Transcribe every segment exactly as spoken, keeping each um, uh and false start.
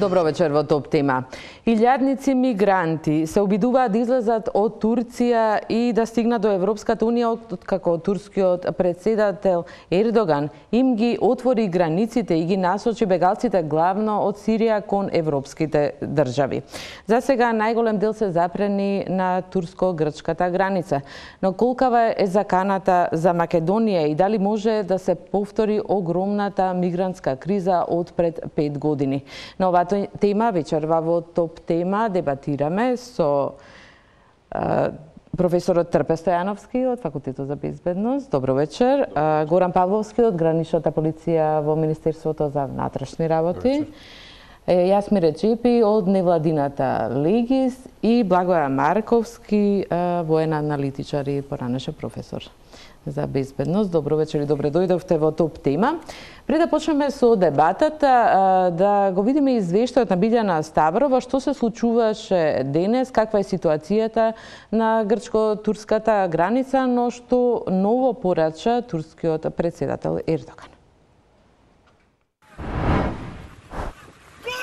Добро вечер во Топ тема. Илјадници мигранти се обидуваат да излезат од Турција и да стигнат до Европската унија, откако турскиот председател Ердоган им ги отвори границите и ги насочи бегалците главно од Сирија кон европските држави. За сега најголем дел се запрени на турско-грчката граница. Но колкава е заканата за Македонија и дали може да се повтори огромната мигрантска криза од пред пет години? На оваа тема вечерва во Топ тема дебатираме со а, професорот Трпе Стојановски од Факултетот за безбедност. Добро вечер. А, Горан Павловски од Граничната полиција во Министерството за внатрешни работи. Јасмир Реджепи од невладината Легис и Благоја Марковски, а, воен аналитичар и поранеше професор за безбедност. Добро вечер и добре дојдовте во Топ тема. Пред да почнеме со дебатата, да го видиме извештајот на Билјана Ставрова, што се случуваше денес, каква е ситуацијата на грчко-турската граница, но што ново порача турскиот председател Ердоган.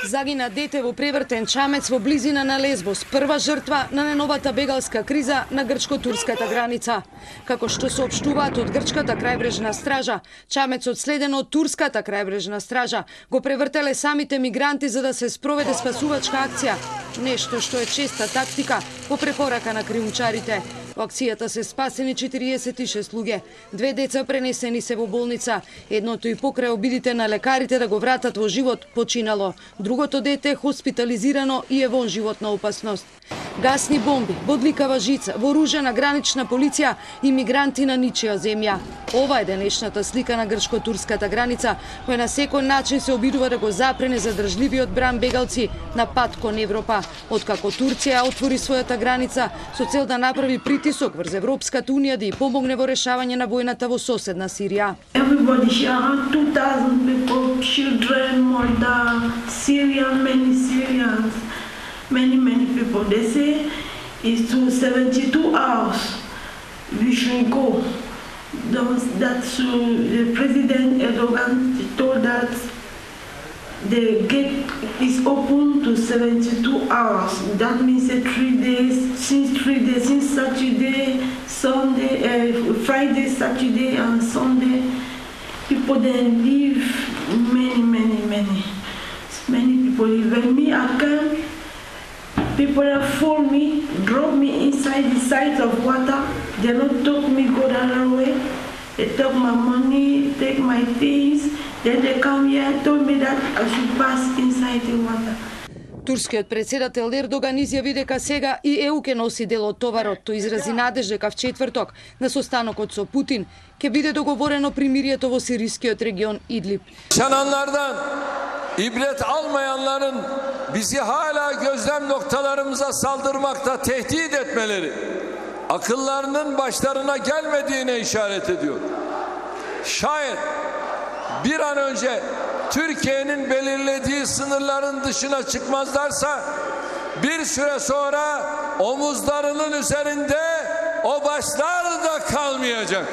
Загина дете во превртен чамец во близина на Лесбос, прва жртва на најновата бегалска криза на грчко-турската граница. Како што соопштуваат од грчката крајбрежна стража, чамецот следен од турската крајбрежна стража го превртеле самите мигранти за да се спроведе спасувачка акција, нешто што е честа тактика по препорака на криумчарите. Во акцијата се спасени четириесет и шест луѓе. Две деца пренесени се во болница. Едното и покрај обидите на лекарите да го вратат во живот починало. Другото дете е хоспитализирано и е вон животна опасност. Гасни бомби, бодликава жица, вооружена гранична полиција и мигранти на ничија земја. Ова е денешната слика на грчко-турската граница, која на секој начин се обидува да го запрене задржливиот бран бегалци на пат кон Европа. Откако Турција отвори својата граница со цел да направи притисок врз Европската унија да ја помогне во решавање на војната во соседна Сирија. Everybody here, two thousand people, children, more than Syrian, many Syrians. Many, many people, they say it's to seventy-two hours we should go. That's uh, the President Erdogan told that the gate is open to seventy-two hours. That means uh, three days, since three days, since Saturday, Sunday, uh, Friday, Saturday, and Sunday, people then leave. Many, many, many, many people leave. When me, I come. People have phoned me, drop me inside the side of water. They don't talk me go the other way. They took my money, take my things. Then they come here and told me that I should pass inside the water. Турскиот председател Ердоган изјави дека сега и ЕУ ке носи дел од товарот. Тој изрази надеж дека в четврток на состанокот со Путин ќе биде договорено примирието во сирискиот регион Идлиб. Yaşananlardan ibret almayanların bizi hala gözlem noktalarımıza saldırmakta tehdit etmeleri akıllarının başlarına gelmediğine işaret ediyor. Şayet bir an önce Türkiye'nin belirlediği sınırların dışına çıkmazlarsa bir süre sonra omuzlarının üzerinde o başlar da kalmayacak.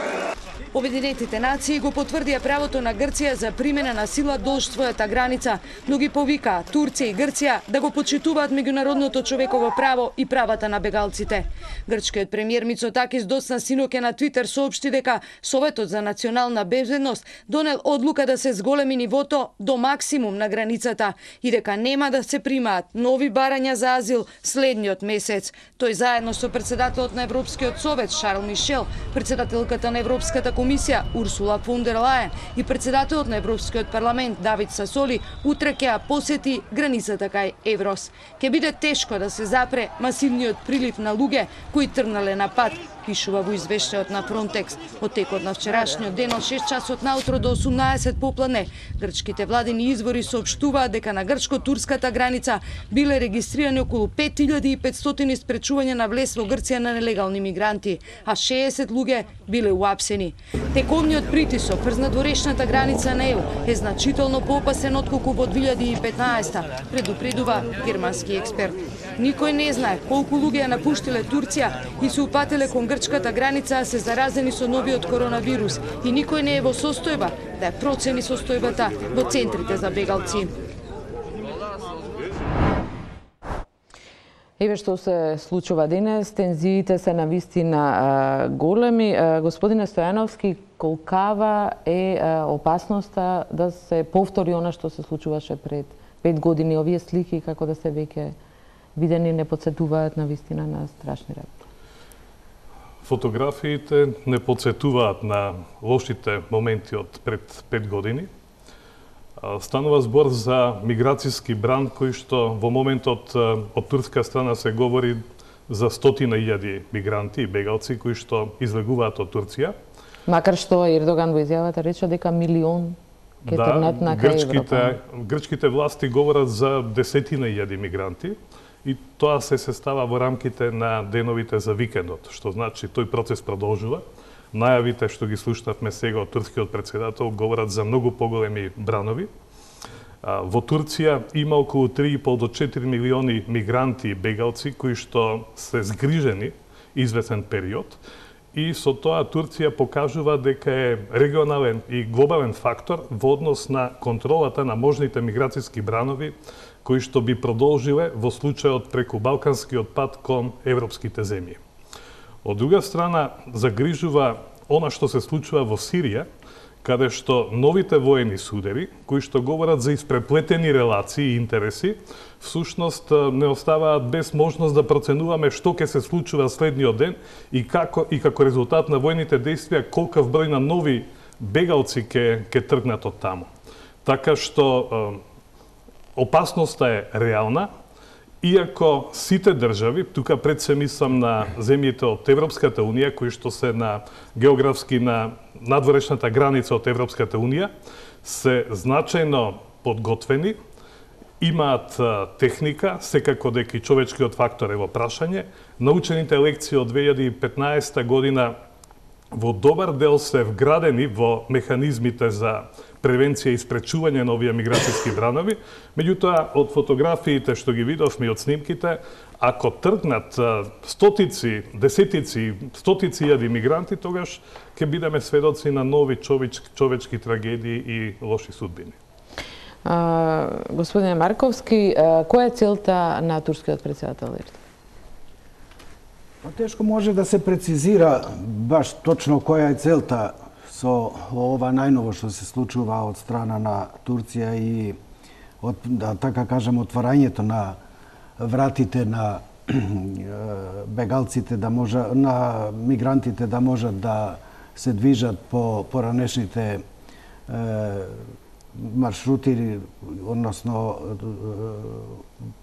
Обединетите нации го потврдија правото на Грција за примена на сила долж својата граница, но ги повикаа Турција и Грција да го почитуваат меѓународното човеково право и правата на бегалците. Грчкиот премиер Мицотакис доцна синоќа на Твитер соопшти дека Советот за национална безбедност донел одлука да се зголеми нивото до максимум на границата и дека нема да се примаат нови барања за азил следниот месец. Тој заедно со председателот на Европскиот совет Шарл Мишел, председателката на Европската комисија Урсула фон дер Лајен и председателот на Европскиот парламент Давид Сасоли утре ќе посети границата кај Еврос. Ќе биде тешко да се запре масивниот прилив на луѓе кои тргнале на пат, пишува во извештајот на Фронтекс. Од текот на вчерашниот ден од шест часот наутро до осумнаесет попладне, грчките владини извори соопштуваат дека на грчко-турската граница биле регистрирани околу пет илјади и петстотини спречувања на влез во Грција на нелегални мигранти, а шеесет луѓе биле уапсени. Тековниот притисок врз надворешната граница на ЕУ е значително поопасен отколку во две илјади и петнаесета, предупредува германски експерт. Никој не знае колку луѓе ја напуштиле Турција и се упателе кон грчката граница, а се заразени со новиот коронавирус и никој не е во состојба да ја процени состојбата во центрите за бегалци. Еве што се случува денес, тензиите се навистина големи. Господине Стојановски, колкава е опасноста да се повтори она што се случуваше пред пет години? Овие слики, како да се веќе видени, не подсетуваат навистина на страшни работи? Фотографиите не подсетуваат на лошите моменти од пред пет години. Станува збор за миграцијски бран кој што во моментот од турска страна се говори за стотина илјади мигранти и бегалци кои што излегуваат од Турција. Макар што Ердоган во изјавата рече дека милион ќе да, тргнат на кај Европа. Грчките власти говорат за десетина илјади мигранти и тоа се сестава во рамките на деновите за викендот, што значи тој процес продолжува. Најавите што ги слушнавме сега од турскиот претседател говорат за многу поголеми бранови. Во Турција има околу три и пол до четири милиони мигранти и бегалци кои што се згрижени известен период и со тоа Турција покажува дека е регионален и глобален фактор во однос на контролата на можните миграцијски бранови кои што би продолжиле во случајот преку Балканскиот пат кон европските земји. Од друга страна, загрижува она што се случува во Сирија, каде што новите воени судери, кои што говорат за испреплетени релации и интереси, всушност не оставаат без можност да проценуваме што ќе се случува следниот ден и како и како резултат на војните действија колкав број на нови бегалци ќе ќе тргнат од таму. Така што опасноста е реална. Иако сите држави, тука пред се мислам на земјите од Европската Унија, кои што се на географски на надворешната граница од Европската Унија, се значајно подготвени, имаат техника, секако дека и човечкиот фактор е во прашање. Научените лекции од две илјади и петнаесета година во добар дел се вградени во механизмите за превенција и спречување на овие миграцијски бранови. Меѓутоа, од фотографиите што ги видовме и од снимките, ако тргнат стотици, десетици, стотици илјади мигранти, тогаш ќе бидеме сведоци на нови човечки, човечки трагедии и лоши судбини. А, господине Марковски, а, која е целта на турскиот претседател Ердоган? Тешко може да се прецизира баш точно која е целта со ова најново што се случува од страна на Турција и од, да така кажем, отварањето на вратите на бегалците да може, на мигрантите да можат да се движат по поранешните е, маршрути, односно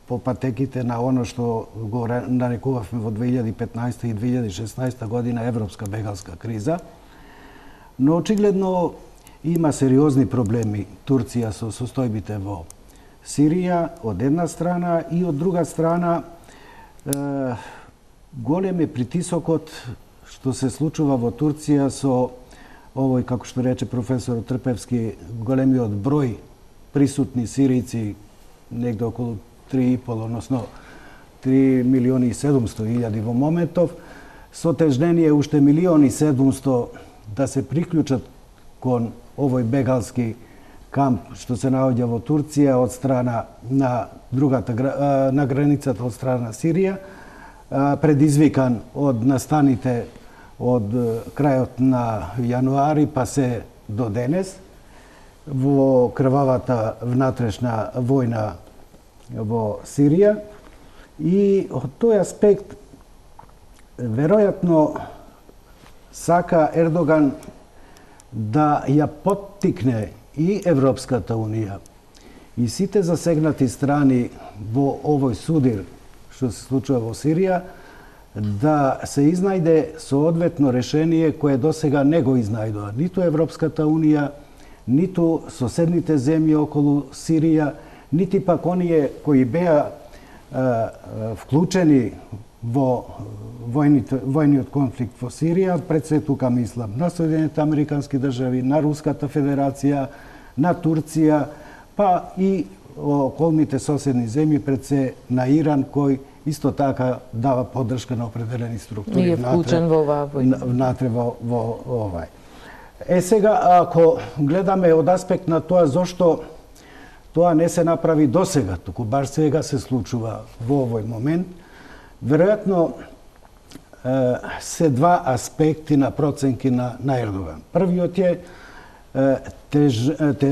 по патеките на оно што го нарекувавме во две илјади и петнаесета и две илјади и шеснаесета година европска бегалска криза. Но очигледно има сериозни проблеми Турција со состојбите во Сирија од една страна и од друга страна е, голем е притисокот што се случува во Турција со овој, како што рече професор Трпевски, големиот број присутни сиријци, негде околу три и пол, односно три милиони и седумсто илјади во моментов, со тежнение уште милион и седумсто да се приклучат кон овој бегалски камп што се наоѓа во Турција од страна на другата на границата од страна на Сирија, предизвикан од настаните од крајот на јануари па се до денес во крвавата внатрешна војна во Сирија. И од тој аспект веројатно сака Ердоган да ја поттикне и Европската Унија и сите засегнати страни во овој судир што се случува во Сирија да се изнајде соодветно решение кое досега не го изнајдоа ниту Европската Унија, ниту соседните земји околу Сирија, нити пак оние кои беа а, вклучени во војните, војниот конфликт во Сирија, пред се тука мислам на Соединените Американски држави, на Руската Федерација, на Турција, па и околните соседни земји, пред се на Иран, кој исто така дава поддршка на определени структури. И е вклучен во оваа војна. Внатре во, во овај. Е сега, ако гледаме од аспект на тоа зошто тоа не се направи досега, туку баш сега се случува во овој момент, Веројатно се два аспекти на проценки на, на Ердоган. Првиот е теж, те,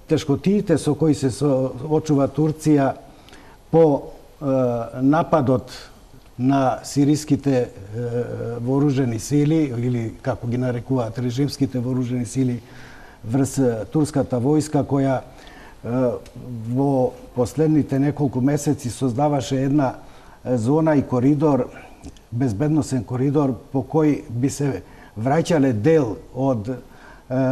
тешкотиите со кои се соочува Турција по нападот на сириските вооружени сили, или како ги нарекуваат режимските вооружени сили врз турската војска, која во последните неколку месеци создаваше една зона и коридор, безбедносен коридор по кој би се враќале дел од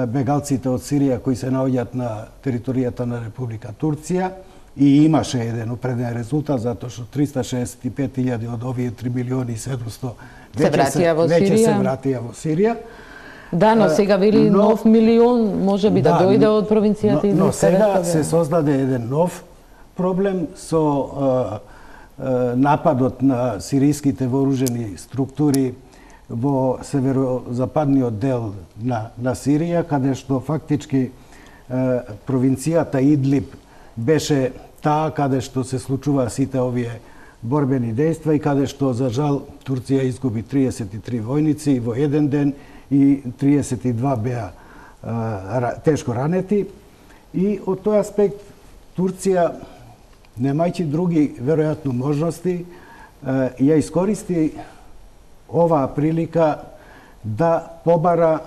бегалците од Сирија кои се наоѓаат на територијата на Република Турција, и имаше еден определен резултат, затоа што триста шеесет и пет илјади од овие три милиони и седумсто се вратија во Сирија. Веќе се вратија во Сирија. Да, но сега вели но, нов милион може би да, да дојде од провинцијата и но сега се создаде еден нов проблем со а, а, нападот на сириските вооружени структури во северозападниот дел на, на Сирија, каде што фактички а, провинцијата Идлиб беше таа каде што се случува сите овие борбени дејства и каде што, за жал, Турција изгуби триесет и три војници во еден ден и триесет и два беа а, тешко ранети. И од тој аспект Турција, немајќи други веројатно можности, а, ја искористи оваа прилика да побара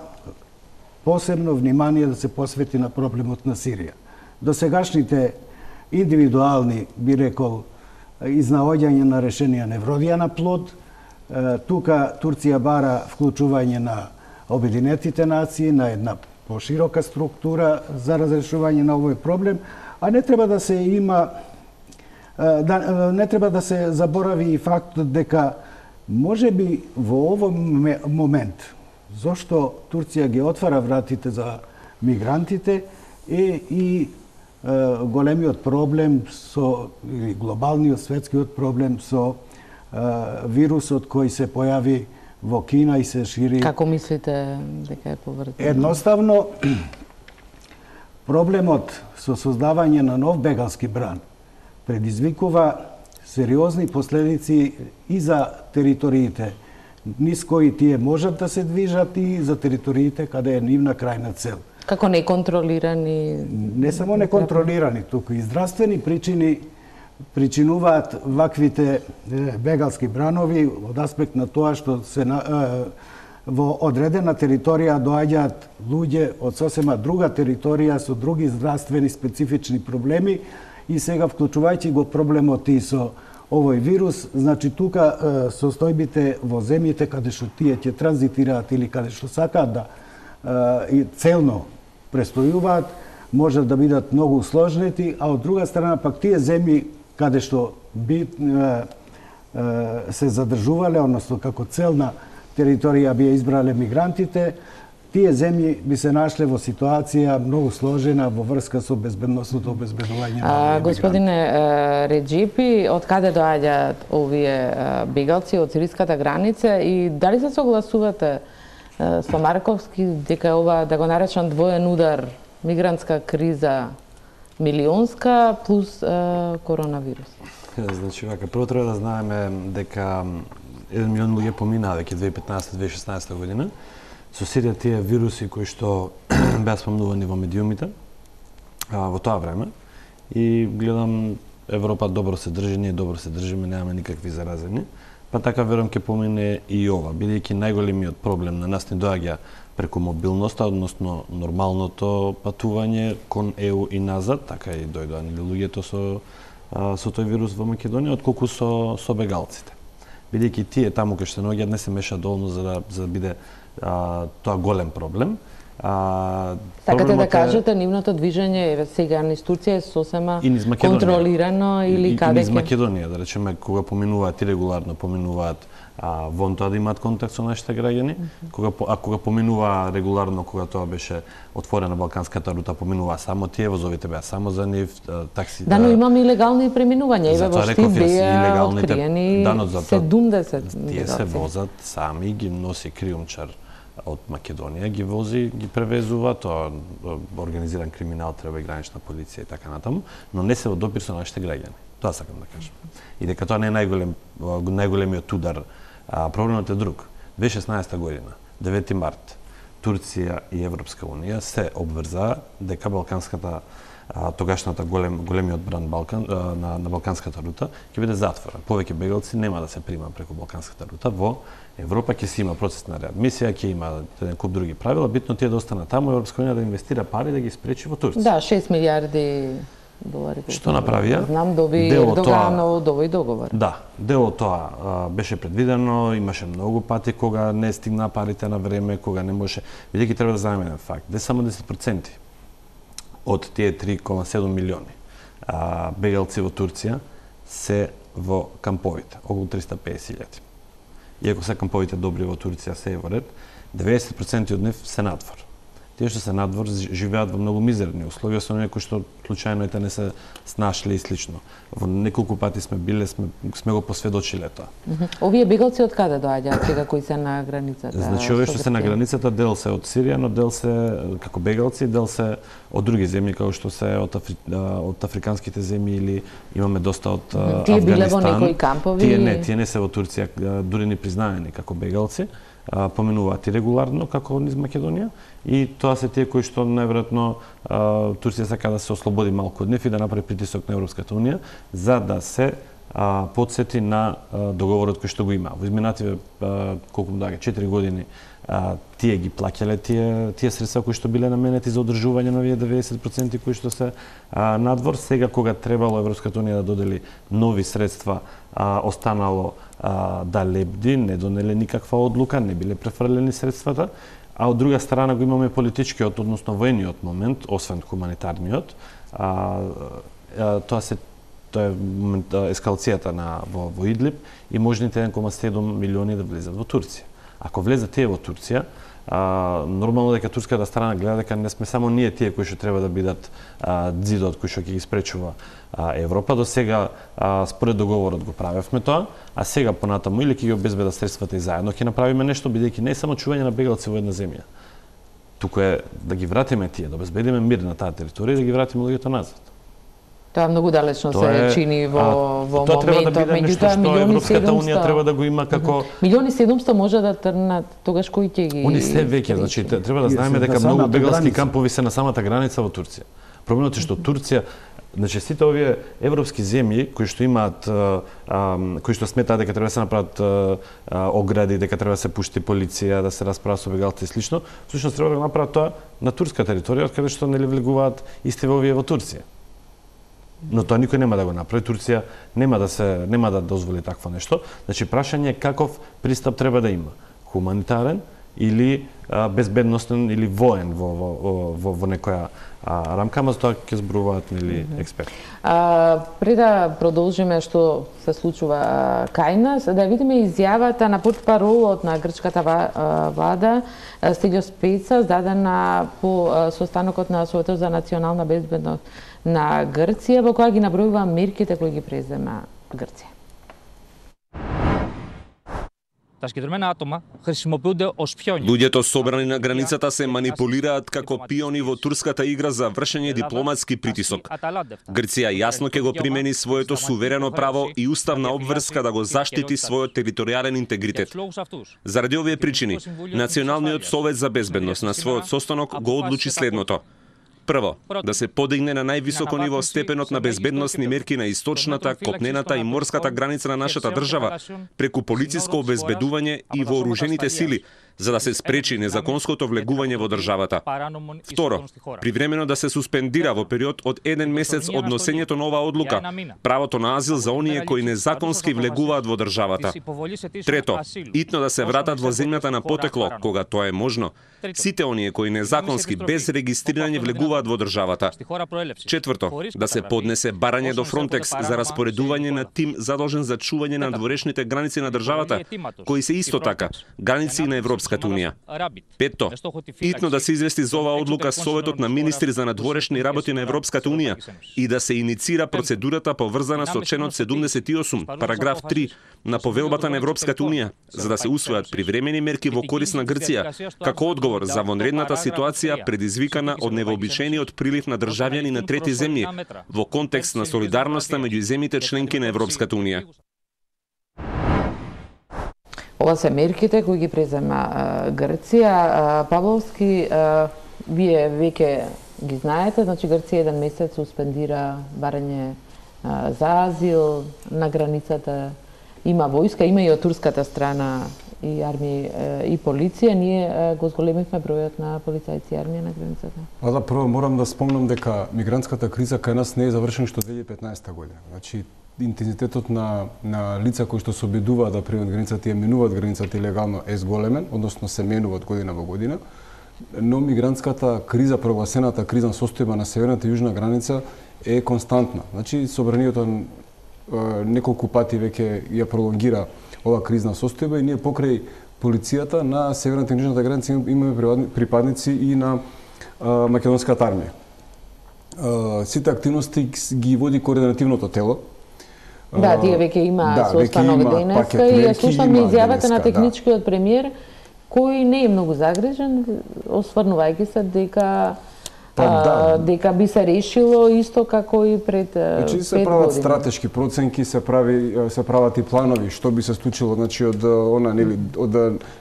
посебно внимание да се посвети на проблемот на Сирија. Досегашните индивидуални, би рекол, изнаоѓање на решенија не вродија на плод. Тука Турција бара вклучување на Обединетите нации, на една поширока структура за разрешување на овој проблем, а не треба да се има да, не треба да се заборави и фактот дека може би во овој момент зошто Турција ги отвара вратите за мигрантите е и големиот проблем со, или глобалниот светскиот проблем со вирусот кој се појави во Кина и се шири. Како мислите дека е поврзано? Едноставно, проблемот со создавање на нов бегалски бран предизвикува сериозни последици и за териториите низ кои тие можат да се движат и за териториите каде е нивна крајна цел. Како неконтролирани? Не само неконтролирани, туку и здравствени причини причинуваат ваквите бегалски бранови од аспект на тоа што се на, е, во одредена територија доаѓаат луѓе од сосема друга територија со други здравствени специфични проблеми и сега вклучувајќи го проблемот и со овој вирус, значи тука е, состојбите во земјите каде што тие ќе транзитираат или каде што сакаат да е, и целно престојуваат, може да бидат многу сложнети, а од друга страна пак тие земји каде што би е, е, се задржувале, односно како целна територија би ја избрале мигрантите, тие земји би се нашле во ситуација многу сложена во врска со безбедносното обезбедување на мигранти. Господине Реджипи, од каде доаѓаат овие бегалци од сириската граница и дали се согласувате со Марковски дека ова, да го наречам, двоен удар, мигрантска криза милионска плюс е, коронавирус? Значи, вака, прво треба да знаеме дека еден милион луѓе поминаа веќе две илјади и петнаесета - две илјади и шеснаесета година со сите тие вируси кои што беа спомнувани во медиумите а, во тоа време. И гледам Европа добро се држи, ние добро се држиме, немаме никакви заразени. Па така верувам ќе помине и ова, бидејќи најголемиот проблем на нас не доаѓа преку мобилноста, односно нормалното патување кон Е У и назад, така и дојдоа луѓето со со тој вирус во Македонија, отколку со со бегалците. Бидејќи тие таму кај што се наоѓаат не се меша доволно за да за да биде а, тоа голем проблем. А, Сакате да кажете, нивното движење сега низ Турција е сосема контролирано или и, каде? И низ Македонија, да речеме, кога поминуваат и регуларно поминуваат а, вон тоа да имаат контакт со нашите граѓани, mm -hmm. кога а кога поминува регуларно, кога тоа беше отворена балканската рута, поминува само тие, возовите беа само за нив, такси. Да, но имаме и легални преминувања, еве во Штип беа откриени седумдесет. Тие се возат сами, ги носи криумчар од Македонија, ги вози, ги превезува, тоа организиран криминал, треба и гранична полиција и така натаму, но не се во допир со нашите граѓани. Тоа сакам да кажам. И дека тоа не е најголем најголемиот удар. А, проблемот е друг. две илјади и шеснаеста година, девети март, Турција и Европска унија се обврзаа дека балканската а, тогашната голем големиот бранд Балкан а, на на балканската рута ќе биде затворен. Повеќе бегалци нема да се прима преку балканската рута во Европа, ќе си има процес на реадмисија, ќе има еден куп други правила, битно тие да останат таму, Европска унија да инвестира пари да ги спречи во Турција. Да, шест милиарди долари. Што направија? Знам, доби Ердоганов, доби договор. Да, дел од тоа а, беше предвидено, имаше многу пати кога не стигна парите на време, кога не може. Бидејќи треба да знаеме еден факт, де само десет проценти од тие три кома седум милиони а, бегалци во Турција се во камповите, околу триста и песет илјади. Иако се камповите добри во Турција се е во ред, деветдесет проценти од нив се надвор. Тие што се надвор живеат во многу мизерни услови, освен некои што случајно ете не се снашли и слично. Во неколку пати сме биле, сме, сме го посведочиле тоа. Mm -hmm. Овие бегалци од каде доаѓаат сега кои се на границата? Значи овие што се на границата дел се од Сирија, но дел се како бегалци, дел се од други земји како што се од, Афри... од африканските земји или имаме доста од mm -hmm. Тие Авганистан. Тие биле во некои кампови? Тие не, тие не се во Турција, дури не признаени како бегалци. Поминуваат и регуларно како низ Македонија и тоа се тие кои што најверојатно Турција сака да се ослободи малку од нив и да направи притисок на Европската унија за да се а, подсети на а, договорот кој што го има. Во изминативе колку му доаѓа четири години а, тие ги плаќале тие тие средства кои што биле наменети за одржување на овие деветдесет проценти кои што се а, надвор. Сега кога требало Европската унија да додели нови средства, а, останало а, да лебди, не донеле никаква одлука, не биле префрлени средствата, а од друга страна го имаме политичкиот, односно воениот момент, освен хуманитарниот, а, а, тоа се тоа е ескалацијата на во, во Идлиб и можните еден кома седум милиони да влезат во Турција. Ако влезат тие во Турција, а, нормално дека турската страна гледа дека не сме само ние тие кои што треба да бидат а, ѕидот кој што ќе ги спречува а, Европа. До сега а, според договорот го правевме тоа, а сега понатаму или ќе ги обезбедат средствата и заедно ќе направиме нешто, бидејќи не е само чување на бегалци во една земја. Туку е да ги вратиме тие, да обезбедиме мир на таа територија и да ги вратиме луѓето назад. Тоа многу далечно тоа се е, чини во, а, во тоа моментот. Тоа треба да биде нешто што Европската унија треба да го има како... Милиони седумсто може да трнат, тогаш кој ќе ги... Они се веќе, значи, треба да знаеме дека многу бегалски кампови се на самата граница во Турција. Проблемот е што Турција, значи сите овие европски земји кои што имаат, а, а, кои што сметаат дека треба да се направат а, а, огради, дека треба да се пушти полиција, да се расправа со бегалци и слично, всушност треба да го направат тоа на турска територија, од каде што нели влегуваат исти во овие во Турција. Но тоа никој нема да го направи. Турција нема да се нема да дозволи такво нешто. Значи прашање е каков пристап треба да има. Хуманитарен или а, безбедностен или воен во во во, во некоја а, рамка, ама за тоа ќе зборуваат нели експерти. А, пред да продолжиме што се случува кај нас, да видиме изјавата на портпаролот на грчката влада Стелиос Пеца, дадена по состанокот на Советот за национална безбедност на Грција, во која ги набројува мерките кои ги презема Грција. Луѓето собрани на границата се манипулираат како пиони во турската игра за вршење дипломатски притисок. Грција јасно ќе го примени своето суверено право и уставна обврска да го заштити својот територијален интегритет. Заради овие причини, Националниот совет за безбедност на својот состанок го одлучи следното. Прво, да се подигне на највисоко ниво степенот на безбедносни мерки на источната, копнената и морската граница на нашата држава, преку полициско обезбедување и вооружените сили, за да се спречи незаконското влегување во државата. Второ, привремено да се суспендира во период од еден месец од носењето на оваа одлука правото на азил за оние кои незаконски влегуваат во државата. Трето, итно да се вратат во земјата на потекло, кога тоа е можно, сите оние кои незаконски без регистрирање влегуваат во државата. Четврто, да се поднесе барање до Фронтекс за распоредување на тим задолжен за чување на дворешните граници на државата, кои се исто така граници на Европската Европската унија. Петто, итно да се извести за оваа одлука Советот на министри за надворешни работи на Европската унија и да се иницира процедурата поврзана со членот седумдесет и осум, параграф три на Повелбата на Европската унија, за да се усвојат привремени мерки во корист на Грција, како одговор за вонредната ситуација предизвикана од невообичаениот прилив на државјани на трети земји во контекст на солидарноста меѓу земјите членки на Европската унија. Ова се мерките кои ги презема Грција. Павловски, вие веќе ги знаете, значи Грција еден месец суспендира барање за азил на границата. Има војска, има и од турската страна и армија и полиција. Ние го зголемивме бројот на полицајци и армија на границата. А да, прво морам да спомнам дека мигрантската криза кај нас не е завршена што две илјади и петнаесета година. Значи интензитетот на на лица кои што се обидуваат да преминат границата и минуваат границата илегално е зголемен, односно се менуваат година во година. Но мигрантската криза, прогласената кризна состојба на северната и јужна граница е константна. Значи собранието неколку пати веќе ја пролонгира ова кризна состојба и ние покрај полицијата на северната и јужната граница имаме припадници и на а, македонската армија. А, сите активности ги води координативното тело. Да, тие веќе има да, состанок денеска и ја слушаме изјавата на техничкиот премиер кој не е многу загрижен, осврнувајќи се дека Па, да. дека би се решило исто како и пред значи, пет се прават години. стратешки проценки, се прави се прават и планови што би се случило, значи од она нели од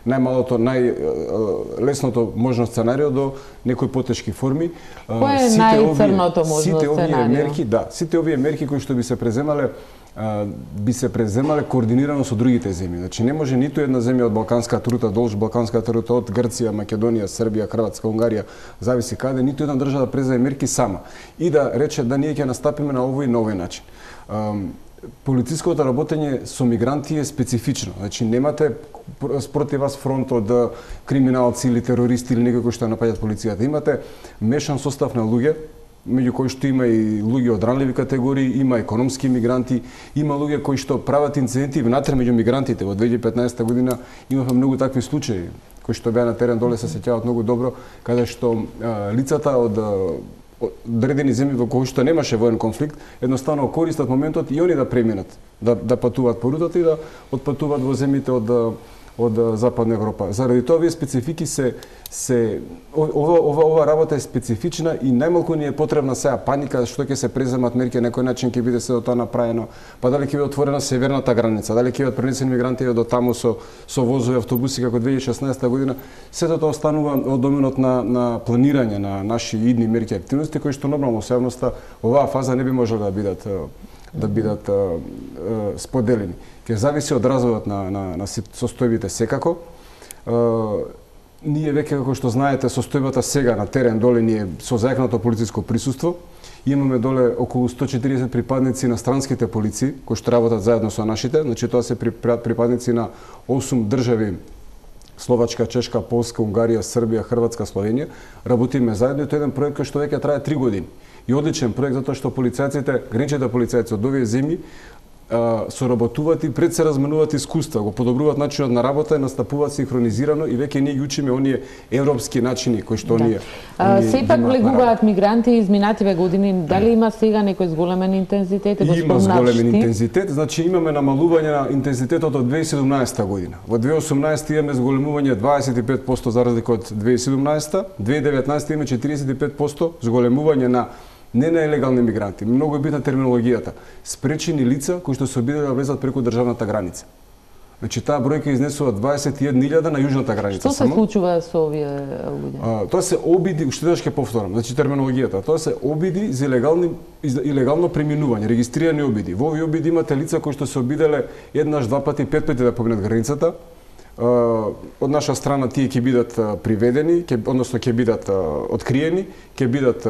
најмалото најлесното можно сценарио до некои потешки форми. Кој е најцрното можно сите овие сценарио? мерки, да, сите овие мерки кои што би се преземале би се преземале координирано со другите земји. Значи не може ниту една земја од балканската рута, долж балканската рута од Грција, Македонија, Србија, Хрватска, Унгарија, зависи каде, ниту една држава да преземе мерки сама и да рече да ние ќе настапиме на овој и на овој начин. Полициското работење со мигранти е специфично. Значи немате спроти вас фронт од криминалци или терористи или некои кои што напаѓаат полицијата. Имате мешан состав на луѓе, меѓу кои што има и луѓе од ранливи категории, има економски мигранти, има луѓе кои што прават инциденти внатре меѓу мигрантите. Во две илјади и петнаесета година имавме многу такви случаи кои што беа на терен доле, се сеќаваат многу добро, каде што а, лицата од одредени земји во кои што немаше воен конфликт, едноставно користат моментот и они да преминат, да да патуваат по рутата и да отпатуваат во земјите од од Западна Европа. Заради тоа овие специфики се се ова ова ова работа е специфична и најмалку ни е потребна сега паника што ќе се преземат мерки на некој начин ќе биде се до тоа направено, па дали ќе биде отворена северната граница, дали ќе бидат пренесени мигранти до таму со со возови автобуси како две илјади и шеснаесета година, сето тоа останува од доменот на на планирање на наши идни мерки и активности кои што нормално со јавноста оваа фаза не би можела да бидат да бидат а, а, споделени. Ке зависи од развојот на, на, на состојбите секако. А, ние веќе, како што знаете, состојбата сега на терен доле ни е со зајакнато полициско присуство. Имаме доле околу сто и четириесет припадници на странските полиции, кои што работат заедно со нашите. Значи, тоа се припадници на осум држави: Словачка, Чешка, Полска, Унгарија, Србија, Хрватска, Словенија. Работиме заедно и тоа е еден проект кој што веќе трае три години. И одличен проект затоа што полицајците, граничните полицајци од овие земји соработуваат и пред се разменуваат искуства, го подобруваат начинот на работа и настапуваат синхронизирано и веќе ние ги учиме оние европски начини кои што оние. Да. Сепак влегуваат мигранти изминативе години. Дали има сега некој зголемен интензитет? Има зголемен интензитет, значи имаме намалување на интензитетот од две илјади и седумнаесета година. Во две илјади и осумнаесета имаме зголемување дваесет и пет проценти за разлика од две илјади и седумнаесета, две илјади и деветнаесета имаме четириесет и пет проценти зголемување на не на елегални мигранти. Многу е битна терминологијата. Спречени лица кои што се обиделе да влезат преку државната граница. Значи таа бројка изнесува дваесет и една илјада на јужната граница. Што се само случува со овие луѓе? Тоа се обиди, уште еднаш ќе повторам, значи терминологијата. Тоа се обиди за илегални илегално преминување, регистрирани обиди. Во овие обиди имате лица кои што се обиделе еднаш, два пати, пет пати да поминат границата. Од наша страна тие ќе бидат приведени, ќе, односно ќе бидат откриени, ќе бидат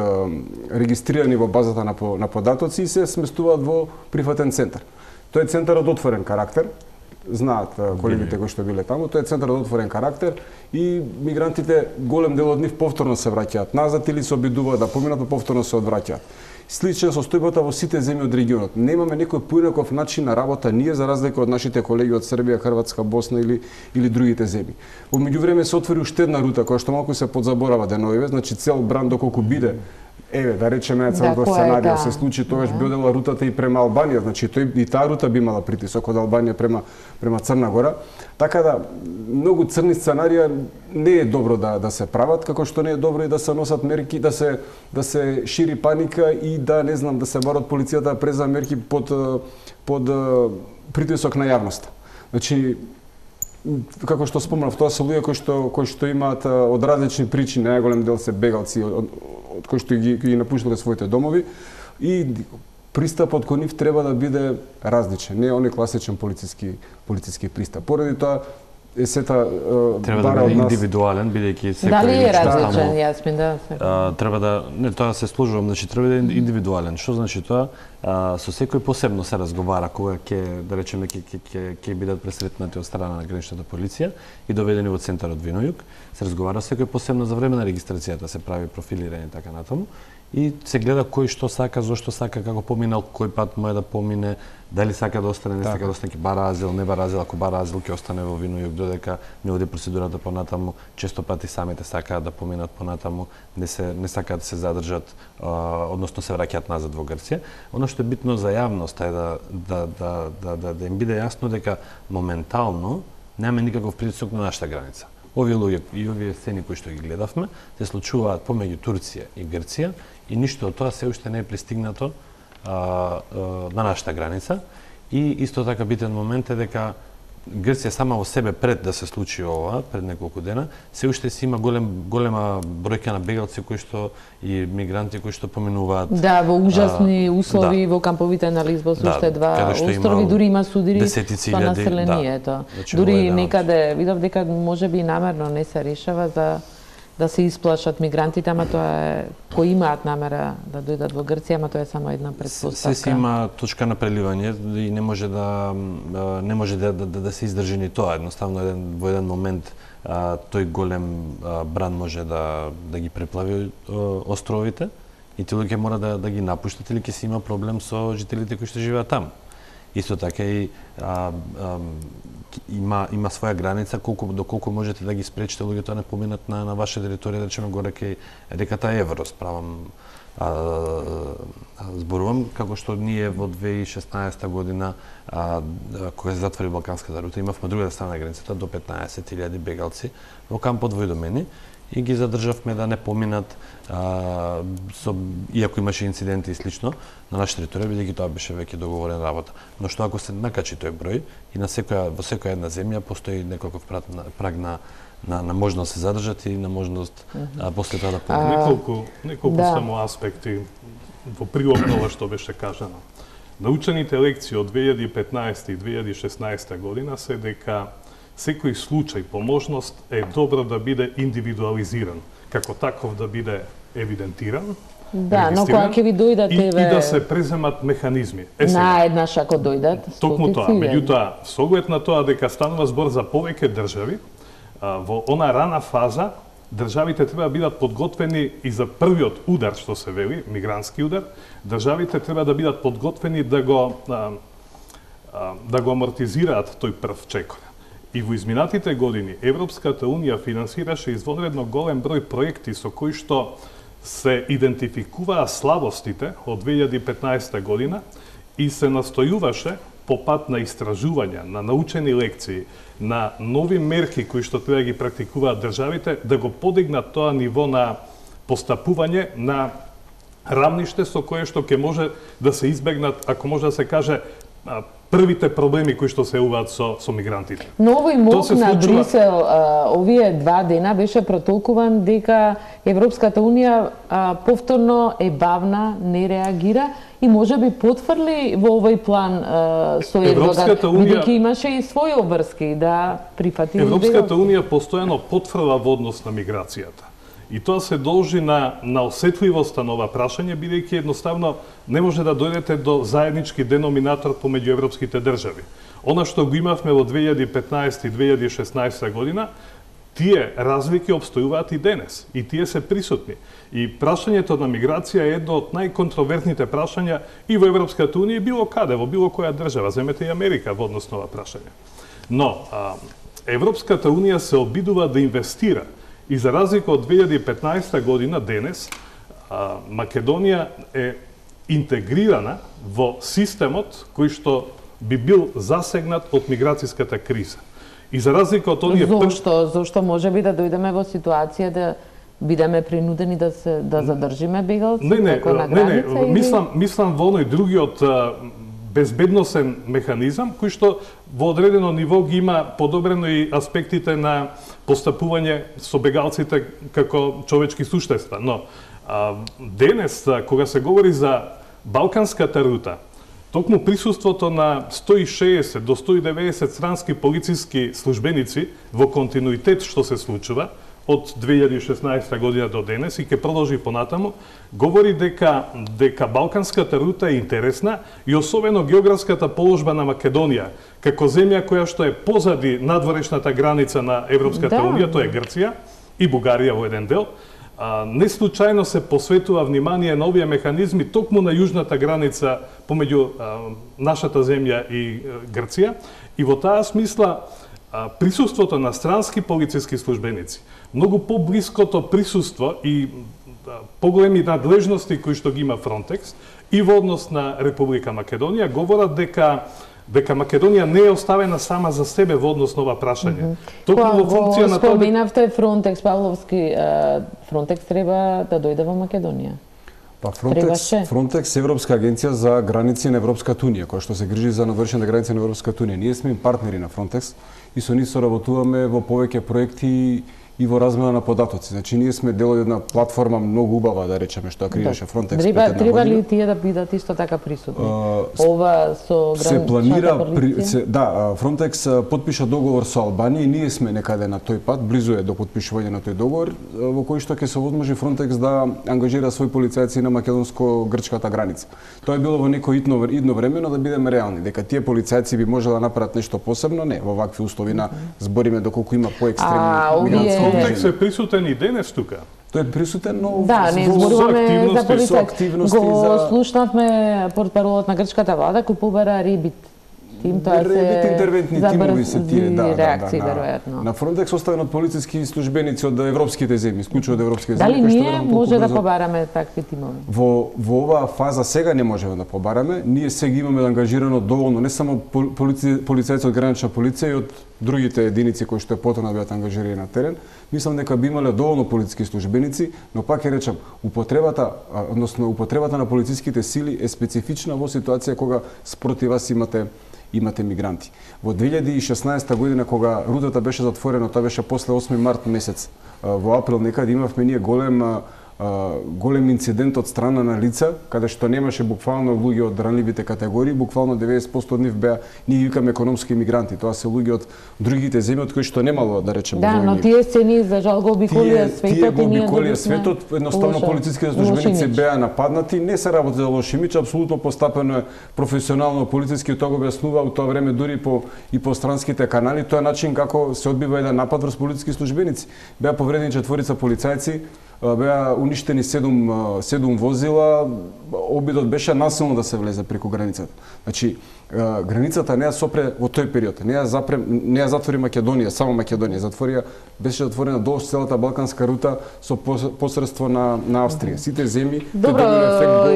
регистрирани во базата на, на податоци и се сместуваат во прифатен центар. Тој е центар од отворен карактер, знаат колегите кои што биле таму, тој е центар од отворен карактер и мигрантите, голем дел од нив повторно се враќаат назад или се обидуваат да поминат, но повторно се одвраќаат. слична состојбата во сите земји од регионот. Немаме некој поинаков начин на работа ние за разлика од нашите колеги од Србија, Хрватска, Босна или или другите земји. Во меѓувреме се отвори уште една рута која што малку се подзаборава деновиве, значи цел бран доколку биде еве да речеме целото да, сценарио да. се случи тогаш да. би одела рутата и према Албанија, значи тој и таа рута би имала притисок од Албанија према према Црна Гора. Така да многу црни сценарија не е добро да да се прават, како што не е добро и да се носат мерки, да се да се шири паника и да не знам да се барат полицијата да преза мерки под под притисок на јавноста. Значи како што спомнав, тоа се луѓе кои што кои што имаат од различни причини, најголем дел се бегалци од, од кои што ги, ги напуштале своите домови и пристапот кон нив треба да биде различен, не оној класичен полициски полициски пристап. Поради тоа е сета треба да биде индивидуален, бидејќи секој дали е различен, Јасмин, да. А, треба да не тоа се служувам, значи треба да е индивидуален. Што значи тоа? А, со секој посебно се разговара кога ќе да речеме ќе ќе ќе бидат пресретнати од страна на граничната полиција и доведени во центарот Винојук. Се разговара секој посебно за време на регистрацијата, се прави профилирање така натаму и се гледа кој што сака, зошто сака, како поминал, кој пат може да помине, дали сака да остане, не сака да остане, ќе бара азил, не бара азил, ако бара азил ќе остане во Винојук додека не оди процедурата понатаму. Често пати самите сакаат да поминат понатаму, не се не сакаат да се задржат, а, односно се враќаат назад во Грција. Она што е битно за јавноста е да да да да да, да им биде јасно дека моментално нема никаков притисок на нашата граница. Овие луѓе и овие сцени кои што ги гледавме се случуваат помеѓу Турција и Грција и ништо од тоа се уште не е пристигнато а, а, на нашата граница. И исто така битен момент е дека Грција сама во себе пред да се случи ова, пред неколку дена, се уште си има голем голема бројка на бегалци кои што и мигранти кои што поминуваат. Да, во ужасни а, услови да. во камповите на Лизбос, да, уште два острови, дури има судири со населението. Да. Значи, дури да, некаде видов дека можеби намерно не се решава за да се исплашат мигрантите, ама тоа е кои имаат намера да дојдат во Грција, ама тоа е само една предпоставка. Се си има точка на преливање и не може да не може да да, да се издржи ни тоа. Едноставно еден во еден момент а, тој голем а, бран може да да ги преплави а, островите и тие луѓе мора да да ги напуштат или ќе си има проблем со жителите кои што живеат таму. Исто така и а, а, има има своја граница колку доколку можете да ги спречите луѓето да не поминат на на ваша територија, да речеме горе кај реката Евро, справам а, а, зборувам како што ние во две илјади и шеснаесета година а, кога се затвори Балканската рута имавме друга страна на границата до петнаесет илјади бегалци во кампот во Идомени и ги задржавме да не поминат а, со иако имаше инциденти и слично на наша територија, бидејќи тоа беше веќе договорена работа. Но што ако се накачи тој број и на секоја во секоја една земја постои неколков праг на на на можност да се задржат и на можност mm -hmm. а, после тоа да поминат. Неколку неколку да. само аспекти во прилог на ова што беше кажано. Научените лекции од две илјади и петнаесета и две илјади и шеснаесета година се дека секој случај по можност е добро да биде индивидуализиран, како таков да биде евидентиран, да, но кога ќе ви дојдат и, еве... и да се преземат механизми. Е, наеднаш ако дојдат, токму тоа, меѓутоа, со оглед на тоа дека станува збор за повеќе држави, во она рана фаза државите треба да бидат подготвени и за првиот удар што се вели, мигрантски удар, државите треба да бидат подготвени да го а, а, да го амортизираат тој прв чекор. И во изминатите години Европската Унија финансираше извонредно голем број проекти со кои што се идентификуваа слабостите од две илјади и петнаесета година и се настојуваше по пат на истражувања, на научени лекции, на нови мерки кои што треба да ги практикуваат државите, да го подигнат тоа ниво на постапување на рамниште со кое што ќе може да се избегнат, ако може да се каже, првите проблеми кои што се јавуваат со со мигрантите. Но овој мок на случува... Брисел а, овие два дена беше протолкуван дека Европската Унија а, повторно е бавна, не реагира и можеби потврли во овој план а, со Ердоган, бидејќи имаше и своји обврски да прифати. Европската Унија постојано потврла во однос на миграцијата. И тоа се должи на, на осетливоста на ова прашање, бидејќи едноставно не може да дојдете до заеднички деноминатор помеѓу европските држави. Она што го имавме во две илјади и петнаесета и две илјади и шеснаесета година, тие разлики обстојуваат и денес, и тие се присутни. И прашањето на миграција е едно од најконтровертните прашања и во Европската унија, и било каде, во било која држава, земете и Америка во однос на ова прашање. Но, а, Европската унија се обидува да инвестира, и за разлика од две илјади и петнаесета година, денес, а, Македонија е интегрирана во системот кој што би бил засегнат од миграцијската криза. И за разлика од оние Зошто? Зошто може би да дојдеме во ситуација да бидеме принудени да се да задржиме бегалци не, не, како на не, граница? не, или... мислам, мислам во оној другиот а, безбедносен механизам, кој што во одредено ниво ги има подобрено и аспектите на постапување со бегалците како човечки суштества. Но а, денес, а, кога се говори за Балканската рута, токму присуството на сто и шеесет до сто и деветдесет странски полициски службеници во континуитет што се случува од две илјади и шеснаесета година до денес и ќе продолжи понатаму, говори дека дека Балканската рута е интересна и особено географската положба на Македонија како земја која што е позади надворешната граница на Европската да. унија, тоа е Грција и Бугарија во еден дел. А, не случајно се посветува внимание на овие механизми токму на јужната граница помеѓу а, нашата земја и а, Грција, и во таа смисла а, присуството на странски полициски службеници, многу поблиското присуство и а, поголеми надлежности кои што ги има Фронтекс и во однос на Република Македонија говорат дека дека Македонија не е оставена сама за себе во однос на ова прашање. Токму во функција на тоа... Споменавте Фронтекс, Павловски, Фронтекс треба да дојде во Македонија. Па Фронтекс, Фронтекс е Европска агенција за граници на Европската унија, која што се грижи за навршените граници на Европската унија. Ние сме партнери на Фронтекс и со нив соработуваме во повеќе проекти и во размена на податоци. Значи, ние сме дел од една платформа многу убава, да речеме, што креираше Фронтекс. Треба, треба ли тие да бидат исто така присутни? Uh, Ова со се планира при, се, да, Фронтекс потпиша договор со Албанија и ние сме некаде на тој пат, близу е до потпишување на тој договор, во кој што ќе се возможи Фронтекс да ангажира своји полицајци на македонско-грчката граница. Тоа е било во некој идно, идно време, но да бидеме реални, дека тие полицајци би можело да направат нешто посебно, не, во вакви услови на збориме доколку има поекстремни мигрантски. Фронтекс е присутен и денес тука. Тој е присутен, но да, не зборуваме за полицајци. Го за... слушнавме портпаролот на грчката влада кој побара Ребит тим, тоа се интервентни тимови се тие, да, реакции, да, да, веројатно. На Фронтекс оставен од полициски службеници од европските земји, исклучува од европските земји. Дали ние може да побараме такви тимови? Во во оваа фаза сега не можеме да побараме. Ние сега имаме ангажирано доволно не само полици, полицајци од гранична полиција и од другите единици кои што е потrebно да бидат ангажирани на терен. Мислам дека би имале доволно полициски службеници, но пак ќе речам, употребата, односно употребата на полициските сили е специфична во ситуација кога спротив вас имате имате мигранти. Во две илјади и шеснаесета година кога рутата беше затворена, тоа беше после осми март месец, во април некаде имавме ние голем голем инцидент од страна на лица, каде што немаше буквално луѓе од ранливите категории, буквално деветдесет проценти од нив беа, ние викаме економски мигранти. Тоа се луѓе од другите земји од кои што немало, да речеме, да, но тие сцени за жал го обиколија светот. Тие го обиколија светот, едноставно полициските службеници беа нападнати, не се работи за лош имидж, апсолутно постапено е професионално полициски, тоа го објаснува во тоа време дури по и по странските канали, тоа е начин како се одбива еден напад врз полициски службеници. Беа повредени четворица полицајци, беа уништени седум, седум возила, обидот беше насилно да се влезе преку границата. Значи, границата не ја сопре во тој период, не ја запре, не ја затвори Македонија, само Македонија, затворија, беше затворена долж целата Балканска рута со посредство на на Австрија. Сите земји добро,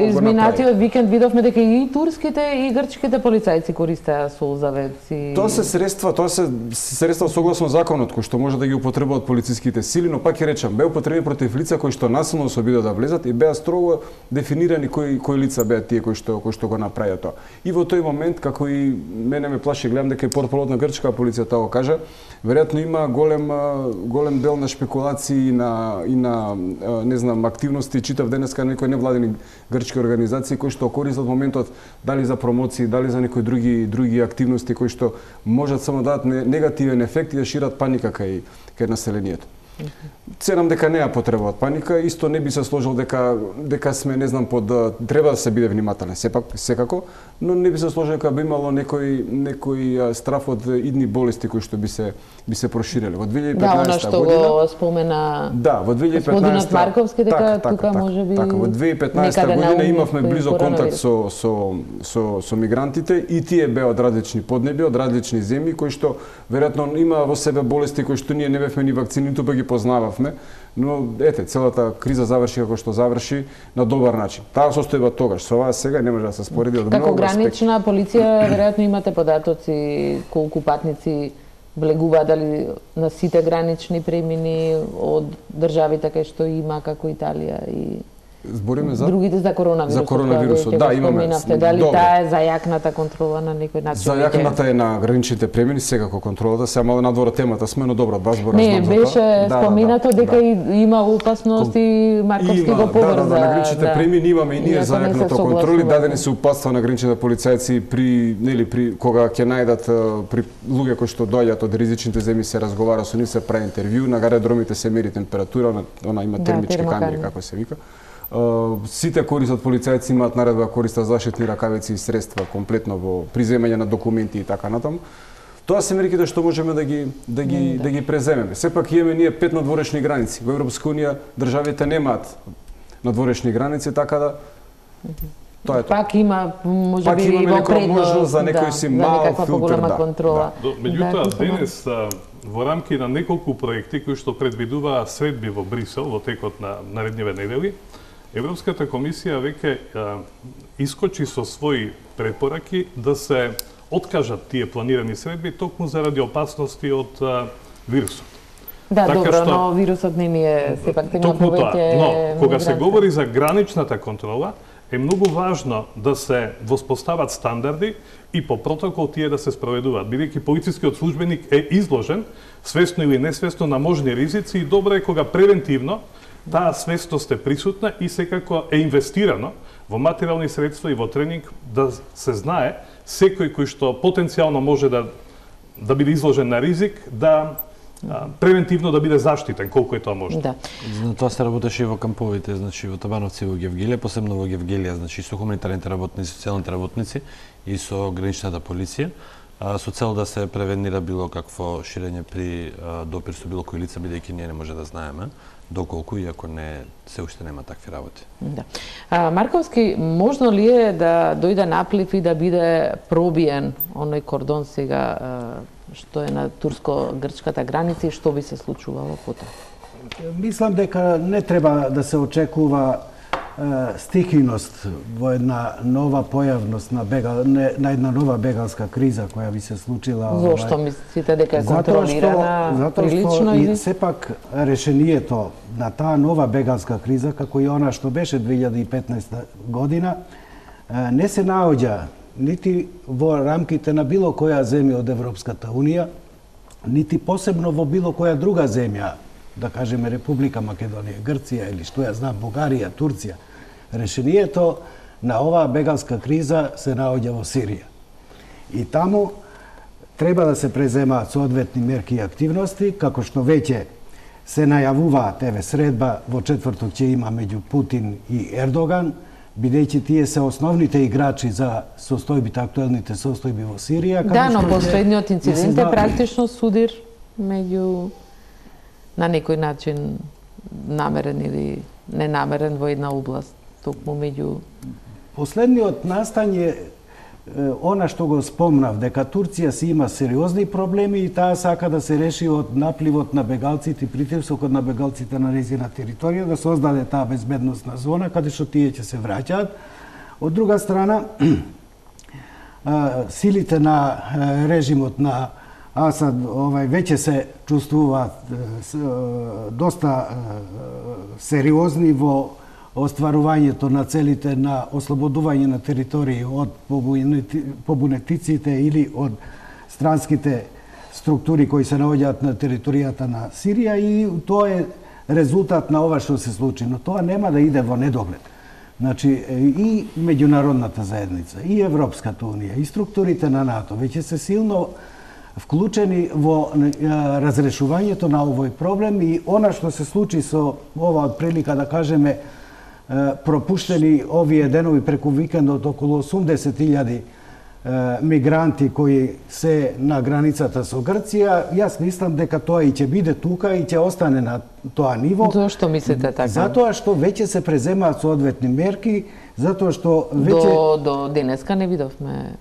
изминатиот викенд видовме дека и турските и грчките полицајци користеа солзавеци. Тоа се средства, тоа се средства согласно законот кои што може да ги употребуваат полициските сили, но пак ќе речам, беа употребени против лица кои што насилно се обидоа да влезат и беа строго дефинирани кои кои лица беа тие кои што кои што го направија тоа. И во тој момент, како и мене ме плаши, гледам дека и портпаролот на грчка полиција тоа го кажа, веројатно има голем голем дел на шпекулации и на и на не знам активности, читав денеска некои невладени грчки организации кои што користат моментот дали за промоции, дали за некои други други активности кои што можат само да дадат негативен ефект и да шират паника кај кај населението. Ценам дека неа потреба од паника, исто не би се сложил дека дека сме не знам под треба да се биде внимателен сепак секако, но не би се сложил дека би имало некој некој страф од идни болести кои што би се би се прошириле. Во две илјади и петнаесета да, година. Да, она што го спомена. Да, во две илјади и петнаесета. Господинот Марковски дека така, тука така, можеби. Така, во две илјади и петнаесета година имавме близо контакт со со со со мигрантите и тие беа од различни поднеби, од различни земји кои што веројатно има во себе болести кои што ние не бевме ни вакцини, тука ги познававме. Но ете, целата криза заврши како што заврши на добар начин. Таа состојба тогаш, со оваа сега не може да се спореди од како многу аспекти. Како гранична полиција, веројатно имате податоци колку патници влегува, дали на сите гранични премини од државите кај што има како Италија и збориме за другите за коронавирусот. За коронавирусот, да, имаме. Дали таа е зајакната контрола на некој начин? Зајакната е на граничните премини, секако контролата, сега мало надвора темата сме, но добро, два збора знам за тоа. Не, беше споминато дека да. има опасност и Марковски го поврза. Да, да, на граничните да. премини имаме и ние зајакната контроли, дадени се упатства на граничните полицајци при нели при кога ќе најдат при луѓе кои што доаѓаат од ризичните земји, се разговара со нив, се прави интервју, на аеродромите се мери температура, она има термички да, камери како се вика. Uh, сите користат полицајци имаат наредба да користат заштитни ракавици и средства комплетно во приземање на документи и така натаму. Тоа се мерките што можеме да ги да ги mm, да. да ги преземеме. Сепак имаме ние пет надворешни граници. Во Европска унија државите немаат надворешни граници, така да тоа е тоа. Пак има можеби Пак имаме во некоја можност за некој да, си мал филтер, да. Контрола. Да. Меѓутоа денес во рамки на неколку проекти кои што предвидуваа средби во Брисел во текот на наредниве недели, Европската комисија веќе искочи со своји препораки да се откажат тие планирани средби токму заради опасности од а, вирусот. Да, така добро, што, но вирусот не ни е сепак тегна повеќе. Но кога се говори за граничната контрола, е многу важно да се воспостават стандарди и по протокол тие да се спроведуваат, бидејќи полицискиот службеник е изложен, свесно или несвесно, на можни ризици и добро е кога превентивно таа свестост е присутна и секако е инвестирано во материјални средства и во тренинг да се знае секој кој што потенцијално може да да биде изложен на ризик, да а, превентивно да биде заштитен колку е тоа можно. Да. За тоа се работеше и во камповите, значи во Табановци и во Гевгелија, посебно во Гевгелија, значи со хуманитарните работници, социјалните работници и со граничната полиција, а, со цел да се превенира било какво ширење при а, допир со било кој лица, бидејќи ние не може да знаеме доколку, иако не се уште нема такви работи. Да. А, Марковски, можно ли е да дојде наплив и да биде пробиен оној кордон сега што е на турско-грчката граница и што би се случувало потоа? Мислам дека не треба да се очекува стихиност во една нова појавност на бега, не, на една нова бегалска криза која би се случила. Зошто мислите дека е контролирана прилично или? И сепак решението на таа нова бегалска криза, како и она што беше две илјади и петнаесета година, не се наоѓа нити во рамките на било која земја од Европската унија, нити посебно во било која друга земја, да кажеме Република Македонија, Грција или што ја знам, Бугарија, Турција. Решението на оваа бегалска криза се наоѓа во Сирија. И таму треба да се преземаат соодветни мерки и активности, како што веќе се најавуваат, еве средба во четврток ќе има меѓу Путин и Ердоган, бидејќи тие се основните играчи за состојбите, актуелните состојби во Сирија. Да, но последниот инцидент е практично судир меѓу на некој начин намерен или ненамерен во една област, токму меѓу... Последниот настан е она што го спомнав, дека Турција си има сериозни проблеми и таа сака да се реши од напливот на бегалците и притисокот на бегалците на нејзина територија, да создаде таа безбедносна зона, каде што тие ќе се враќаат. Од друга страна, силите на режимот на Асад овај веќе се чувствуваат доста сериозни во остварувањето на целите на ослободување на територии од побунетиците или од странските структури кои се наоѓаат на територијата на Сирија и тоа е резултат на ова што се случи, но тоа нема да иде во недоглед. Значи и меѓународната заедница, и Европската унија, и структурите на НАТО веќе се силно вклучени во разрешувањето на овој проблем и она што се случи со ова прилика да кажеме пропуштени овие денови преку викендот околу осумдесет илјади мигранти кои се на границата со Грција, јас мислам дека тоа и ќе биде тука и ќе остане на тоа ниво. Зошто мислите така? Затоа што веќе се преземаат соодветни мерки, затоа што веќе до до денеска не видовме.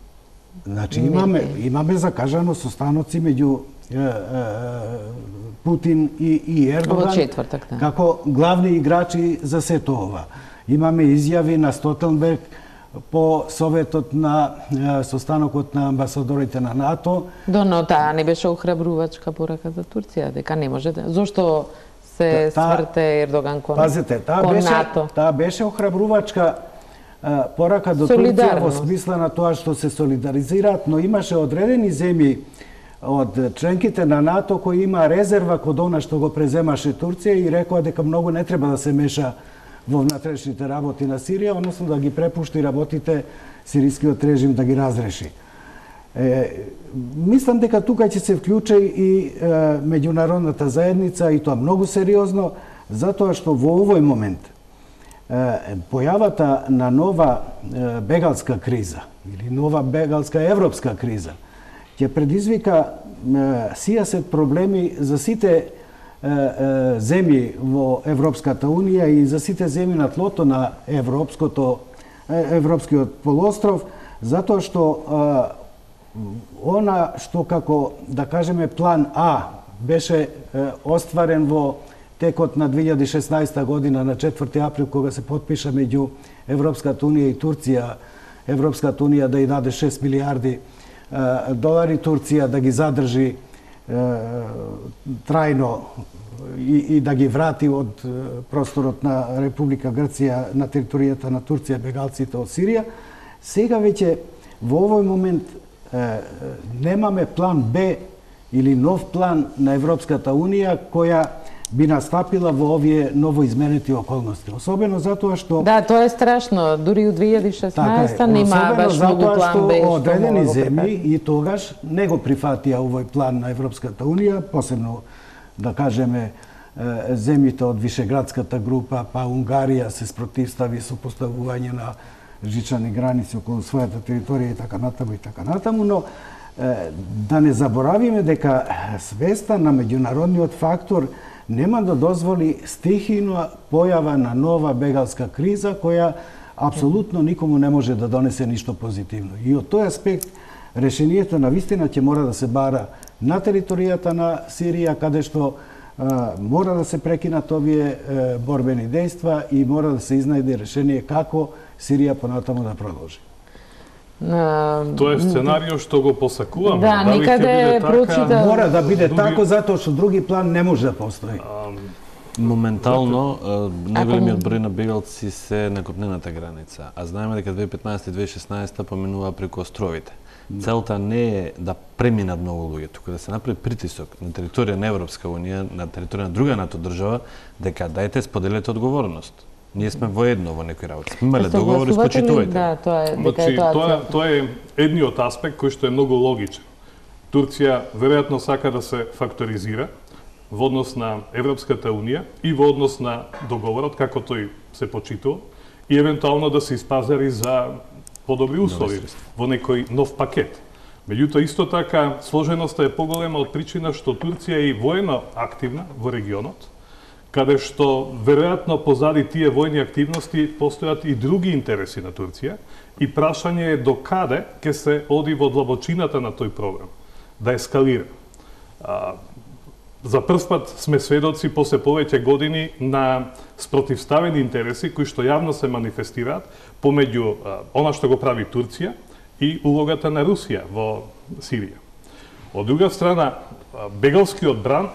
Значи имаме имаме закажано состаноци меѓу е, е, Путин и, и Ердоган четвртак, да. Како главни играчи за сето ова. Имаме изјави на Столтенберг по советот на е, состанокот на амбасадорите на НАТО. Да, но таа не беше охрабрувачка порака за Турција, дека не може да. Зошто се та, сврте Ердоган кон, пазите, таа кон беше, НАТО? Таа беше охрабрувачка порака до Турција во смисла на тоа што се солидаризираат, но имаше одредени земји од членките на НАТО кои има резерва код она што го преземаше Турција и рекоа дека многу не треба да се меша во внатрешните работи на Сирија, односно да ги препушти работите сирискиот режим да ги разреши. Е, мислам дека тука ќе се вклучи и е, меѓународната заедница и тоа многу сериозно, затоа што во овој момент појавата на нова бегалска криза или нова бегалска европска криза ќе предизвика сијасет проблеми за сите земји во Европската унија и за сите земји на тлото на европското европскиот полуостров, затоа што она што како да кажеме план А беше остварен во текот на две илјади и шеснаесета година на четврти април кога се потпиша меѓу Европската унија и Турција, Европската унија да ја даде шест милијарди долари, Турција да ги задржи е, трајно и, и да ги врати од просторот на Република Грција на територијата на Турција бегалците од Сирија. Сега веќе во овој момент е, немаме план Б или нов план на Европската унија која би настапила во овие новоизменети околности. Особено затоа што... Да, тоа е страшно. Дури у две илјади и шеснаесета така е, нема баш многу план Б. Особено затоа што одредени земји и тогаш не го прифатија овој план на Европската унија, посебно, да кажеме, земјите од Вишеградската група, па Унгарија се спротивстави со поставување на жичани граници околу својата територија и така натаму и така натаму, но да не заборавиме дека свеста на меѓународниот фактор нема да дозволи стихијна појава на нова бегалска криза која апсолутно никому не може да донесе ништо позитивно. И од тој аспект решението на вистина ќе мора да се бара на територијата на Сирија, каде што а, мора да се прекинат овие е, борбени дејства и мора да се изнајде решение како Сирија понатаму да продолжи. Uh, Тоа е сценарио што го посакуваме. Да, Дали никаде прочита... Мора да биде други... тако, затоа што други план не може да постои. Uh, Моментално, најголемиот број на бегалци се на копнената граница, а знаеме дека две илјади и петнаесета и две илјади и шеснаесета поминува преку островите. Целта не е да преминат многу луѓе, туку да се направи притисок на територија на Европска унија, на територија на друга НАТО држава, дека дајте споделете одговорност. Ние сме воедно во некои работи. Сме имале договори, спочитувајте. Да, тоа е, дека значи, е тоа. Тоа, тоа е едниот аспект кој што е многу логичен. Турција веројатно сака да се факторизира во однос на Европската унија и во однос на договорот како тој се почитува и евентуално да се испазари за подобри услови во некој нов пакет. Меѓутоа исто така сложеноста е поголема од причина што Турција е и воено активна во регионот, каде што веројатно позади тие војни активности постојат и други интереси на Турција и прашање е до каде ќе се оди во длабочината на тој проблем, да ескалира. А, за прв пат сме сведоци после повеќе години на спротивставени интереси кои што јавно се манифестираат помеѓу а, она што го прави Турција и улогата на Русија во Сирија. Од друга страна, бегалскиот бран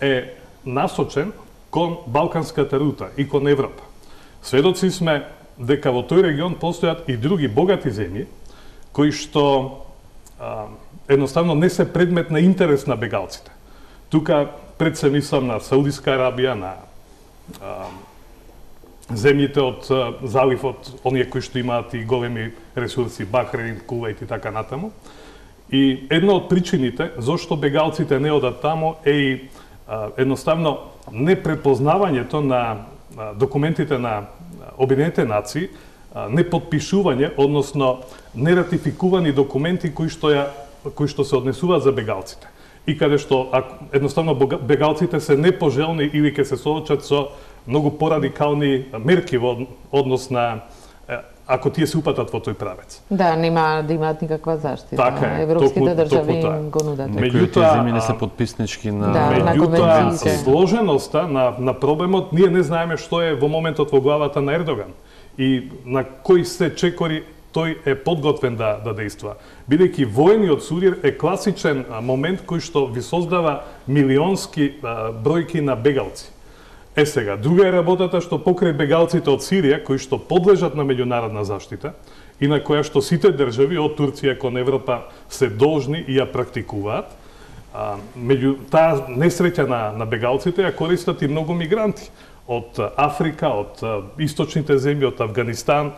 е насочен кон Балканската рута и кон Европа. Сведоци сме дека во тој регион постојат и други богати земји кои што а, едноставно не се предмет на интерес на бегалците. Тука пред се мислам на Саудиска Арабија, на а, земјите од а, заливот, оние кои што имаат и големи ресурси, Бахрейн, Кувајт и така натаму. И една од причините зошто бегалците не одат тамо е и а, едноставно непрепознавањето на а, документите на Обединетите нации, а, неподпишување, односно нератификувани документи кои што ја кои што се однесуваат за бегалците. И каде што ако, едноставно бегалците се непожелни или ќе се соочат со многу порадикални мерки во однос на ако тие се упатат во тој правец. Да, нема да имаат никаква заштита. Така е, Европските току, држави току им го нудат. Некои од тие земји не се подписнички на да, меѓутоа сложеноста на на проблемот ние не знаеме што е во моментот во главата на Ердоган и на кои се чекори тој е подготвен да да дејства. Бидејќи војниот судир е класичен момент кој што ви создава милионски а, бројки на бегалци. Е сега, друга е работата што покрај бегалците од Сирија, кои што подлежат на меѓународна заштита и на која што сите држави од Турција кон Европа се должни и ја практикуваат, а, меѓу таа несреќа на, на бегалците ја користат и многу мигранти од Африка, од источните земји, од Афганистан,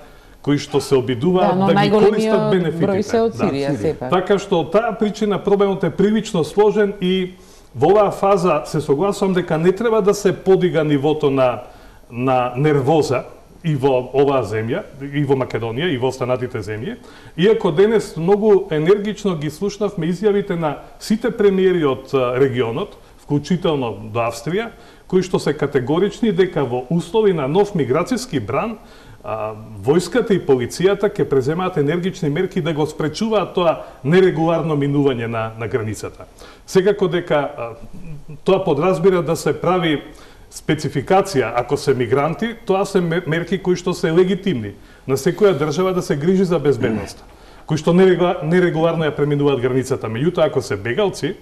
кои што се обидуваат да, да ги користат бенефитите. Број се од Сирија, да, сепак. Така што од таа причина проблемот е привично сложен и во оваа фаза се согласувам дека не треба да се подига нивото на на нервоза и во оваа земја, и во Македонија, и во останатите земји, иако денес многу енергично ги слушнавме изјавите на сите премиери од регионот, вклучително до Австрија, кои што се категорични дека во услови на нов миграцијски бран А, војската и полицијата ќе преземаат енергични мерки да го спречуваат тоа нерегуларно минување на, на границата. Секако дека а, тоа подразбира да се прави спецификација, ако се мигранти, тоа се мерки кои што се легитимни на секоја држава да се грижи за безбедноста, кои што нерегуларно ја преминуваат границата. Меѓутоа, ако се бегалци,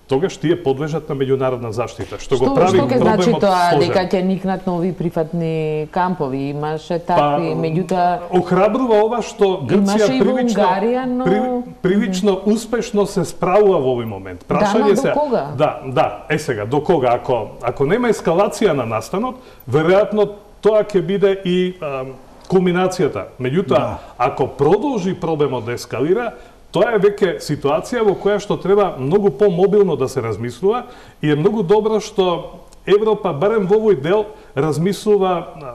тогаш тие подлежат на меѓународна заштита, што, што го прави проблемот сложен. Што ќе значи тоа дека ќе никнат нови прифатни кампови? Имаше такви, па, меѓутоа охрабрува ова што Грција привично Унгарија, но... при, привично успешно се справува во овој момент. Прашање да, се до кога? Да, да, е сега до кога ако ако нема ескалација на настанот, веројатно тоа ќе биде и а, кулминацијата. Меѓутоа, да. ако продолжи проблемот да ескалира, тоа е веќе ситуација во која што треба многу помобилно да се размислува и е многу добро што Европа, барем во овој дел, размислува а,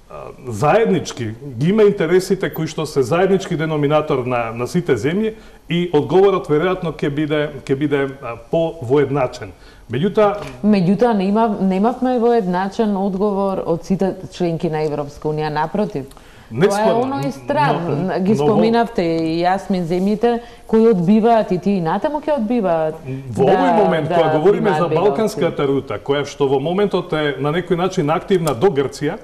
а, заеднички, ги има интересите кои што се заеднички деноминатор на, на сите земји и одговорот веројатно ќе биде ќе биде по-воедначен. Меѓутоа, меѓутоа не има немавме воедначен одговор од сите членки на Европска унија, напротив. Не тоа е оној страв. Но, ги споминавте и Јасмин земјите кои одбиваат и тие натаму ќе одбиваат. Во да, овој момент, да, кога говориме за Балканската рута, која што во моментот е на некој начин активна до Грција,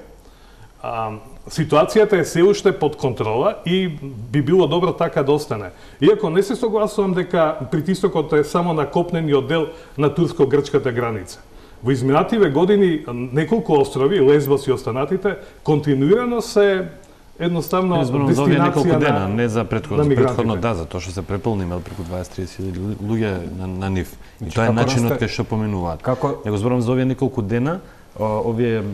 а, ситуацијата е се уште под контрола и би било добро така да остане. Иако не се согласувам дека притисокот е само на копнениот дел на турско-грчката граница. Во изминативе години неколку острови, Лесбос и останатите, континуирано се едноставно дестинација дена, не за предходно, предходно да, за тоа што се преполни имел преку дваесет до триесет луѓе на, на нив. И тоа е начинот кај што поминуваат. Како... Него зборам за овие неколку дена, овие е,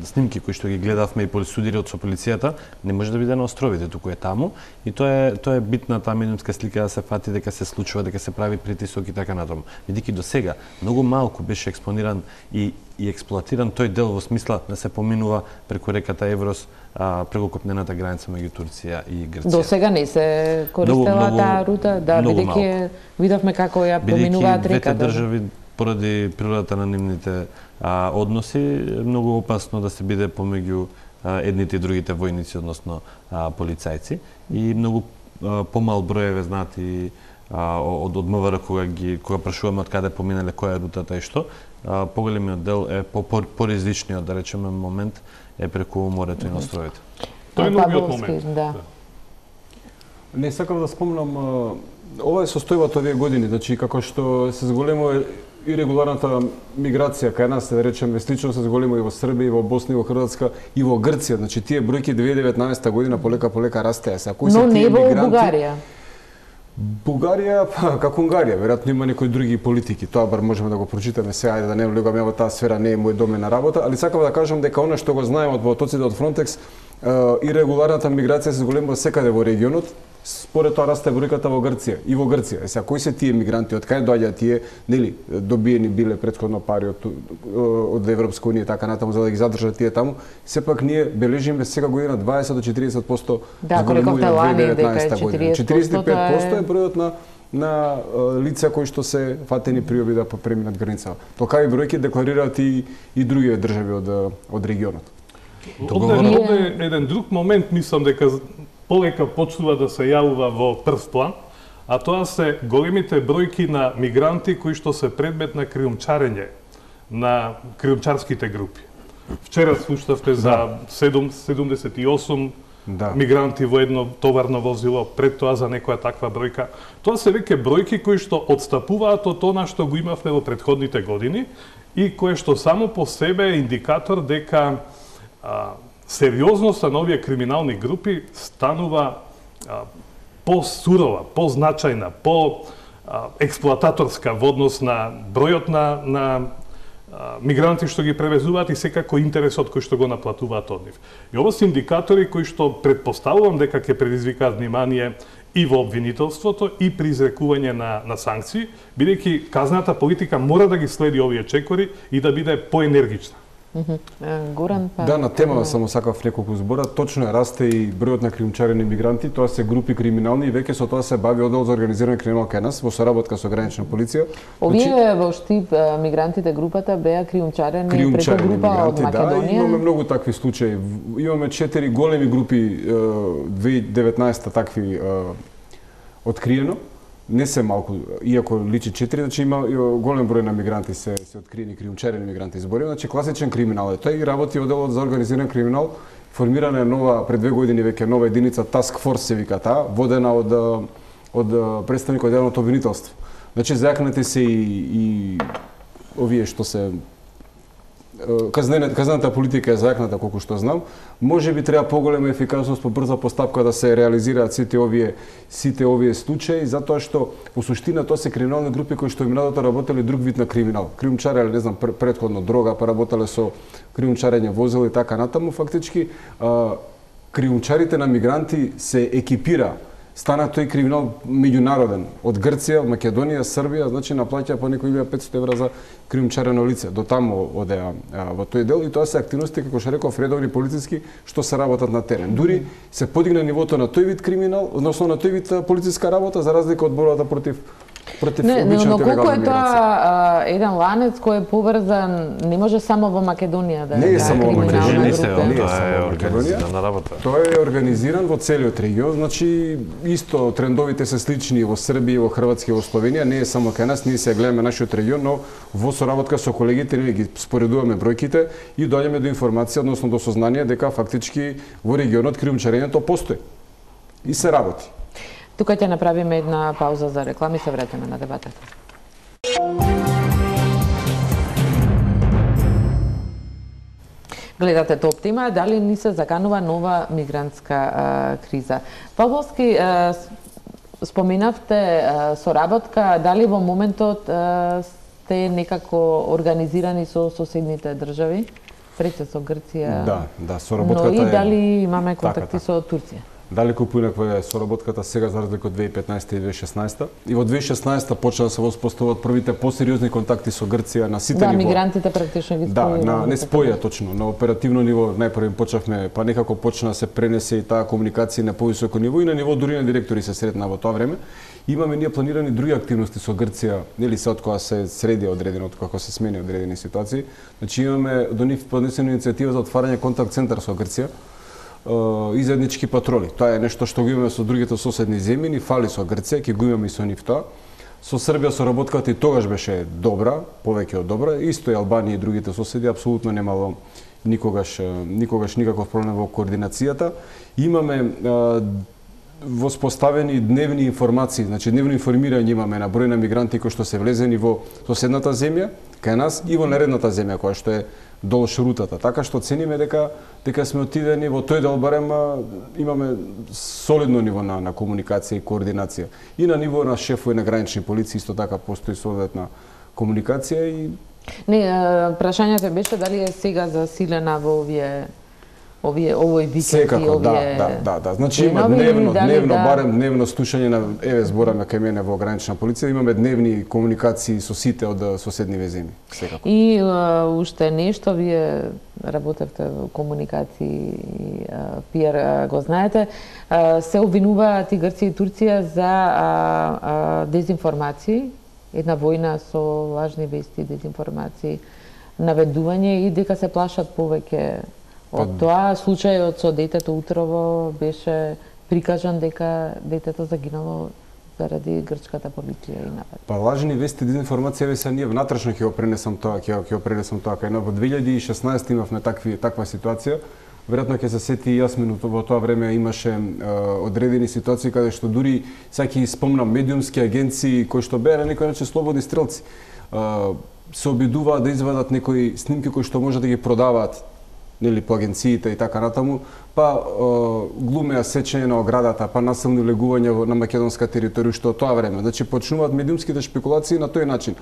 снимки кои што ги гледавме и полисудирот со полицијата, не може да биде на островите, туку е таму и тоа е тоа е битна таа минутска слика да се фати дека се случува, дека се прави притисок и така натаму. Бидејќи до сега многу малку беше експониран и и експлоатиран тој дел во смисла да се поминува преку реката Еврос, а, преку копнената граница меѓу Турција и Грција. До сега не се користела таа рута, да, бидејќи видовме како ја поминуваат реката. Бидејќи двете држави поради природата на нивните а, односи, е многу опасно да се биде помеѓу а, едните и другите војници, односно а, полицајци. И многу а, помал броеве знати а, од од МВР кога ги кога прашуваме од каде поминале, која е рутата и што, а, поголемиот дел е по поризичниот, да речеме, момент е преку морето и на островите. Тоа е новиот момент. Да. Не сакам да спомнам, ова е состојбата овие години, значи како што се зголемува и регуларната миграција кај нас, да речеме, слично се зголемува и во Србија, и во Босна, и во Хрватска, и во Грција. Значи тие бројки две илјади и деветнаесетта година полека полека растеа. Са кои се Но тие не во мигранти? Бугарија. Бугарија, па, како Унгарија, веројатно има некои други политики, тоа бар можеме да го прочитаме сега, ајде да не влегаме во таа сфера, не е мој домен на работа, али сакам да кажам дека она што го знаеме од потоците од Фронтекс и регуларната миграција се зголемува секаде во регионот, според тоа расте бројката во Грција и во Грција. Е сега кои се тие мигранти, од кај доаѓаат тие, нели, добиени биле претходно пари од од Европска унија така натаму за да ги задржат тие таму, сепак ние бележиме сега година дваесет до четириесет проценти да, зголемување во две илјади и деветнаесета година. четириесет и пет проценти е бројот на на лица кои што се фатени при обида да преминат границата. Такави бројки декларираат и и други држави од од регионот. Овде е еден друг момент, мислам дека полека почнува да се јавува во прв план, а тоа се големите бројки на мигранти кои што се предмет на криумчарење на криумчарските групи. Вчера слушнавте за седумдесет и осум да. мигранти во едно товарно возило, пред тоа за некоја таква бројка. Тоа се веќе бројки кои што отстапуваат од она што го имавме во претходните години и кое што само по себе е индикатор дека а, сериозноста на овие криминални групи станува а, по-сурова, по-значајна, по-експлоататорска во однос на бројот на, на а, мигранти што ги превезуваат и секако интересот кој што го наплатуваат од нив. И ова се индикатори кои што предпоставувам дека ќе предизвикаат внимание и во обвинителството и при изрекување на, на санкции, бидејќи казната политика мора да ги следи овие чекори и да биде поенергична. Горан, па... Да, на тема само сакав неколку збора. Точно е, расте и бројот на криумчарени мигранти. Тоа се групи криминални и веќе со тоа се бави оддел за организиран криминал кај нас во соработка со гранична полиција. Овие значи, во Штип мигрантите групата беа криумчарени, криумчарени преку група од Македонија. Да, имаме многу такви случаи. Имаме четири големи групи две илјади и деветнаесета такви откриено. Не се малку, иако личи четири, значи има голем број на мигранти се се откриени криумчарени мигранти зборим, значи класичен криминал е тој и работи одделот за организиран криминал. Формирана е нова пред две години веќе нова единица Task Force се вика таа, водена од од представник од јавното обвинителство. Значи зајакнати се и, и овие што се казнената казната политика е зајакната колку што знам. Може би треба поголема ефикасност, побрза постапка да се реализираат сите овие сите овие случаи, затоа што во суштина тоа се криминални групи кои што минатото работеле друг вид на криминал. Криумчареле, не знам, претходно дрога, па работеле со криумчарење возила и така натаму. Фактички криумчарите на мигранти се екипира. Стана тој криминал меѓународен од Грција, Македонија, Србија, значи наплаќа по некои илјада и петстотини евра за криумчарено лице. До таму одеа во тој дел и тоа се активности како што реков редовни полициски што се работат на терен. Дури се подигна нивото на тој вид криминал, односно на тој вид полициска работа за разлика од борбата против против не, обичната но колку легална е тоа еден ланец кој е поврзан, не може само во Македонија да не е само во Македонија, не е само во Македонија. Тоа е организиран во целиот регион, значи исто трендовите се слични во Србија, во Хрватска и во Словенија, не е само кај нас, ние се гледаме нашиот регион, но во соработка со колегите ние ги споредуваме бројките и доаѓаме до информација, односно до сознание дека фактички во регионот криумчарењето постои и се работи. Тука ќе направиме една пауза за реклами, се враќаме на дебатата. Гледате Топ тема, дали ни се заканува нова мигрантска а, криза? Павловски, а, споменавте а, соработка, дали во моментот а, сте некако организирани со соседните држави? Прече со Грција, да, да, соработката но и е... дали имаме контакти така, со Турција? Далеку поинаква е соработката сега за разлика од две илјади и петнаесета и две илјади и шеснаесета. И во две илјади и шеснаесета почна да се воспоставуваат првите посериозни контакти со Грција на сите да, ниво. Да, мигрантите практично ги споја. Да, на, не споја точно, на оперативно ниво најпрво почнавме, па некако почна да се пренесе и таа комуникација на повисоко ниво и на ниво дури на директори се сретна во тоа време. Имаме ние планирани други активности со Грција, нели се од кога се среди одредено, од кога се смени одредени ситуации. Значи имаме до нив поднесена иницијатива за отварање контакт центар со Грција и заеднички патроли. Тоа е нешто што го имаме со другите соседни земји, ни фали со Грција, ќе го имаме и со нив тоа. Со Србија соработката и тогаш беше добра, повеќе од добра, исто и Албанија и другите соседи апсолутно немало никогаш никогаш никаков проблем во координацијата. Имаме воспоставени дневни информации, значи дневно информирање имаме на број на мигранти кои што се влезени во соседната земја, кај нас и во наредната земја која што е долж рутата. Така што цениме дека дека сме отидени во тој дел барем имаме солидно ниво на на комуникација и координација. И на ниво на шефови на гранични полиции исто така постои соодветна комуникација и не, прашањето беше дали е сега засилена во овие овие овој викенд Секако, и овие да, да, да, да. Значи има дневно, дневно, да... барем дневно слушање на еве збораме кај мене во гранична полиција, имаме дневни комуникации со сите од соседни земји, секако. И а, уште нешто, вие работевте во комуникации и пиар, го знаете, а, се обвинуваат и Грција и Турција за а, а, дезинформации, една војна со лажни вести, дезинформации, наведување и дека се плашат повеќе од тоа. Случајот со детето утрово беше прикажан дека детето загинало заради грчката полиција и напад. Па лажни вести, дезинформација, ве се ние внатрешно ќе го пренесам тоа, ќе ќе го пренесам тоа кај во две илјади и шеснаесета имавме такви таква ситуација. Веројатно ќе се сети и јас во тоа време имаше е, одредени ситуации каде што дури сега ќе спомнам медиумски агенции кои што беа на некој начин слободни стрелци. Е, се обидуваат да извадат некои снимки кои што може да ги продаваат нели по агенциите и така натаму, па е, глумеа сечење на оградата, па насилно легување на македонска територија што од тоа време. Значи почнуваат медиумските шпекулации на тој начин.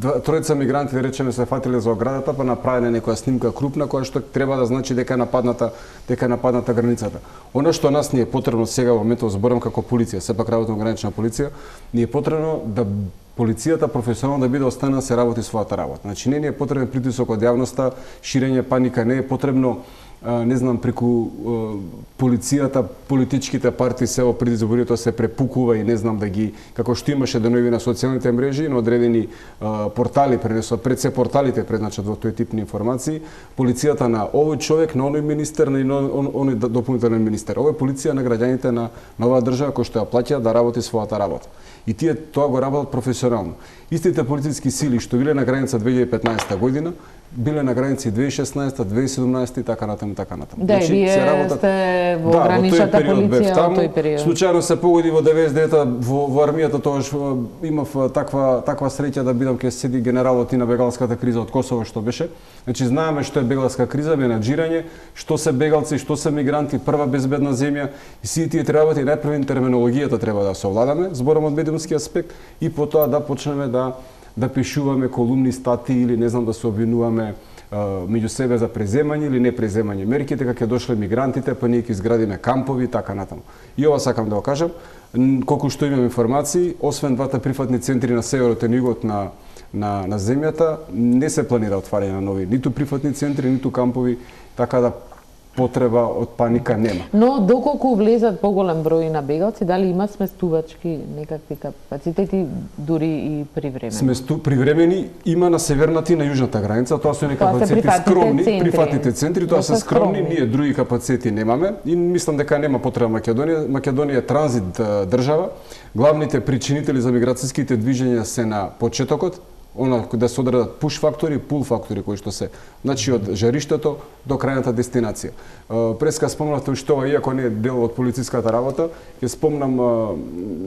Тројца мигранти, да речеме, се фатиле за оградата, па направиле некоја снимка крупна која што треба да значи дека е нападната, дека е нападната границата. Она што нас ни е потребно сега во моментот, зборам како полиција, сепак работам гранична полиција, ни е потребно да полицијата професионално да биде останаа да се работи својата работа. Значи не ни е потребен притисок од јавноста, ширење паника, не е потребно не знам, преку полицијата, политичките партии се во пред изборите се препукува и не знам да ги, како што имаше денови на социјалните мрежи, на одредени портали пренесува, пред се порталите предначат во тој тип на информации, полицијата на овој човек, на оној министер, на оној дополнителен министер. Ова е полиција на граѓаните на оваа држава кој што ја плаќа да работи својата работа. И тие тоа го работат професионално. Истите полициски сили што биле на граница две илјади и петнаесета година, биле на граници две илјади и шеснаесета, две илјади и седумнаесета и така натаму, така натаму. Да, значи, вие работат... сте во да, граничната полиција во тој период. Случајно се погоди во деветдесет и девета во, во армијата, тогаш имав таква таква среќа да бидам ке седи генералот и на бегалската криза од Косово што беше. Значи знаеме што е бегалска криза, менаџирање, што се бегалци, што се мигранти, прва безбедна земја и сите тие треба и најпрвен терминологијата треба да се овладаме, зборам од медиумски аспект и потоа да почнеме да да пишуваме колумни, статии или не знам да се обвинуваме меѓу себе за преземање или не преземање мерки, дека ќе дошле мигрантите, па ние ќе изградиме кампови и така натаму. И ова сакам да го кажам, колку што имам информации, освен двата прифатни центри на северот и на југот на на на земјата, не се планира отварање на нови ниту прифатни центри, ниту кампови, така да потреба од паника нема. Но доколку влезат поголем број на бегалци, дали има сместувачки некакви капацитети дури и привремени? Сместу привремени има на северната и на јужната граница, тоа се некои капацитети скромни, центри. Прифатните центри, тоа се скромни, скромни, ние други капацитети немаме и мислам дека нема потреба Македонија. Македонија е транзит држава. Главните причинители за миграцијските движења се на почетокот, она да се одредат пуш фактори, пул фактори кои што се, значи од жариштето до крајната дестинација. Преска спомнавте уште ова, иако не е дел од полициската работа, ќе спомнам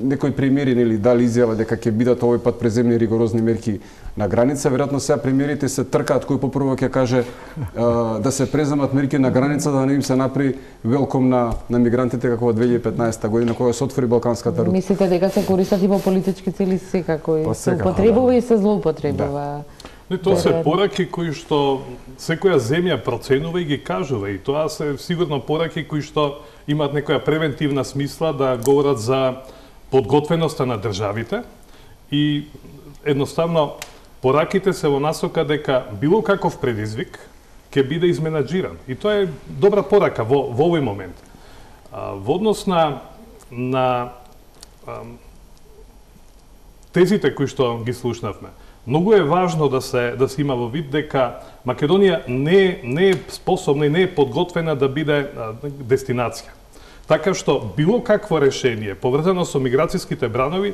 некои премиери нели дали изјава дека ќе бидат овој пат преземни ригорозни мерки на граница, веројатно сега премиерите се тркаат кој попрво ќе каже да се преземат мерки на граница да не им се направи велком на на мигрантите како во две илјади и петнаесета година кога се отвори балканската рута. Мислите дека се користат и во политички цели секако и се употребува и се злоупотребува? Не, тоа се пораки кои што секоја земја проценува и ги кажува и тоа се сигурно пораки кои што имаат некоја превентивна смисла да говорат за подготвеноста на државите и едноставно пораките се во насока дека било каков предизвик ќе биде изменаџиран. И тоа е добра порака во, во овој момент. А, во однос на, на а, тезите кои што ги слушнавме, многу е важно да се да се има во вид дека Македонија не не е способна и не е подготвена да биде а, дестинација. Така што било какво решение поврзано со миграцијските бранови,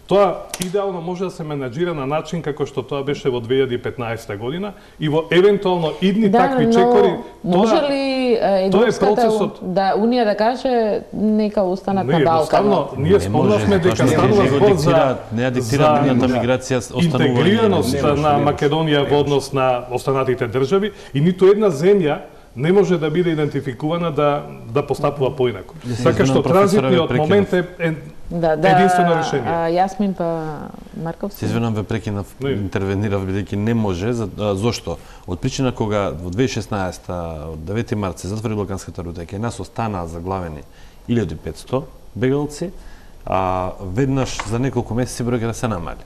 тоа идеално може да се менаџира на начин како што тоа беше во две илјади и петнаесета година и во евентуално идни да, такви чекори. Може тоа, ли европската процесот... да Унија да каже нека останат не, на Балканот? Ние спомнавме дека станува збор за не диктира миграција останување. Интегрираност на Македонија во однос на останатите држави и ниту една земја не може да биде идентификувана да да постапува поинако. Така што транзитниот момент е, е Да, да, единствено решение. А, Јасмин па Марков. Се извинам, ве прекинав, интервенирав бидејќи не може. За, а, зошто? Од причина кога во две илјади и шеснаесета од девети март се затвори Балканската рута, кај нас останаа заглавени илјада и петсто бегалци, а веднаш за неколку месеци бројката се намали.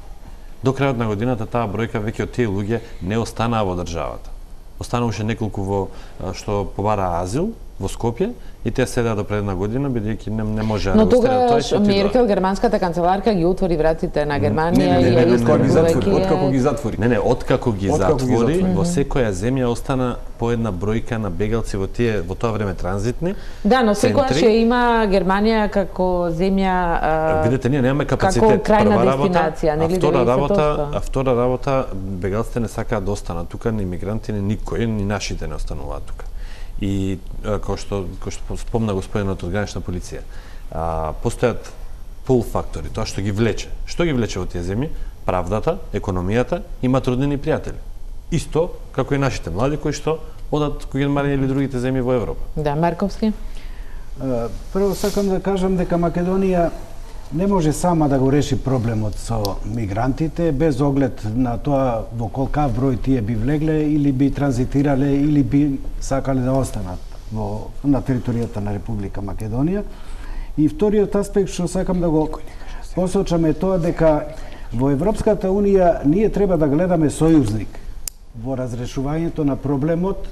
До крајот на годината таа бројка веќе од тие луѓе не останаа во државата. Остануваше неколку во што побараа азил во Скопје и те седеа до пред една година бидејќи не, не можеа да го стерат тоа. Но тогаш Меркел, германската канцеларка, ги отвори вратите на Германија не, не, и не, не, ја ги затвори, откако ги затвори. Не, не, откако ги откако затвори, ги затвори. во секоја земја остана по една бројка на бегалци во тие во тоа време транзитни. Да, но секогаш ја има Германија како земја а, видете, ние немаме капацитет. Како крајна Прва дестинација, работа, нели? а втора работа, а втора работа бегалците не сакаат да останат тука, ни мигранти, ни никој, ни нашите не остануваат тука. И како што како што спомна господинот од гранична полиција, а, постојат пул фактори, тоа што ги влече. Што ги влече во тие земји? Правдата, економијата и матроднини пријатели. Исто како и нашите млади кои што одат кои Германија или другите земји во Европа. Да, Марковски. Прво сакам да кажам дека Македонија не може сама да го реши проблемот со мигрантите без оглед на тоа во колкав број тие би влегле или би транзитирале или би сакале да останат во на територијата на Република Македонија. И вториот аспект што сакам да го посочам е тоа дека во Европската унија ние треба да гледаме сојузник во разрешувањето на проблемот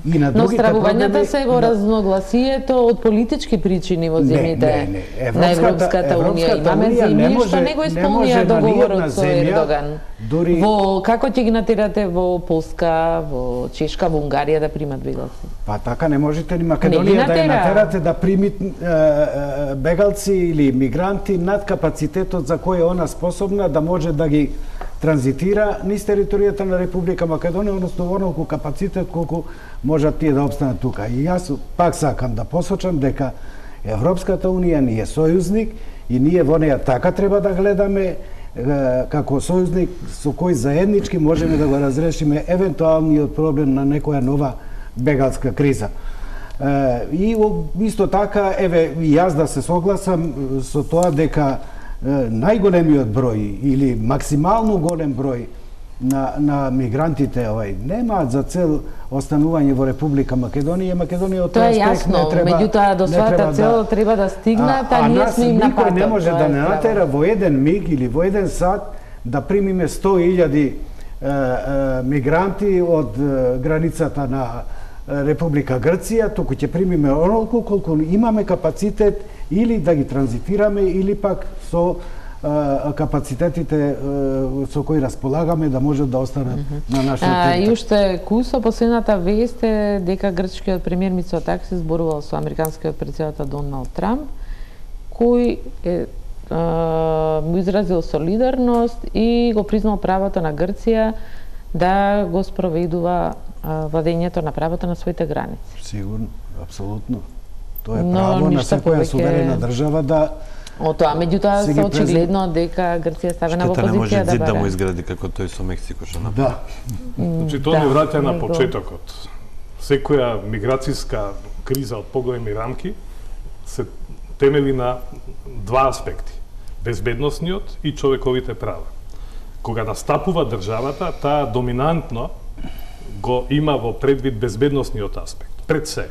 и на другите проблеми. Но стравувањата се во разногласието од политички причини во земјите не, не, не. на Европската унија. Имаме земји што не го исполнија договорот со Ердоган. Дори... Во како ќе ги натирате во Полска, во Чешка, во Унгарија да примат бегалци? Па така не можете ни Македонија да ја натерате да примит е, е, бегалци или мигранти над капацитетот за кој е она способна да може да ги транзитира низ територијата на Република Македонија, односно во онолку капацитет колку можат тие да опстанат тука. И јас пак сакам да посочам дека Европската унија ни е сојузник и ние во неја така треба да гледаме како сојузник со кој заеднички можеме да го разрешиме евентуалниот проблем на некоја нова бегалска криза. И исто така, еве, и јас да се согласам со тоа дека најголемиот број или максимално голем број на, на мигрантите овај немаат за цел останување во Република Македонија. Македонија од тоа е јасно, меѓутоа до својата цел да, треба да стигнат, а, а, а ние сме им на патот. Никој не може да не натера во еден миг или во еден сат да примиме сто илјади мигранти од границата на Република Грција, туку ќе примиме онолку колку имаме капацитет или да ги транзитираме или пак со капацитетите со кои располагаме да можат да останат mm -hmm. на нашата територија. И уште кусо последната вест е дека грчкиот премиер Мицотакис зборувал со американскиот претседател Доналд Трамп, кој е му изразил солидарност и го признал правото на Грција да го спроведува владењето на правото на своите граници. Сигурно, апсолутно. Тоа е право на секоја суверена држава да О тоа, меѓутоа се очигледно дека Грција е ставена во позиција да бара. Штета не може зид да му изгради како тој со Мексико што направи. Да. Значи тоа ни враќа на почетокот. Секоја миграцијска криза од поголеми рамки се темели на два аспекти: безбедносниот и човековите права. Кога настапува државата, таа доминантно го има во предвид безбедносниот аспект, пред се.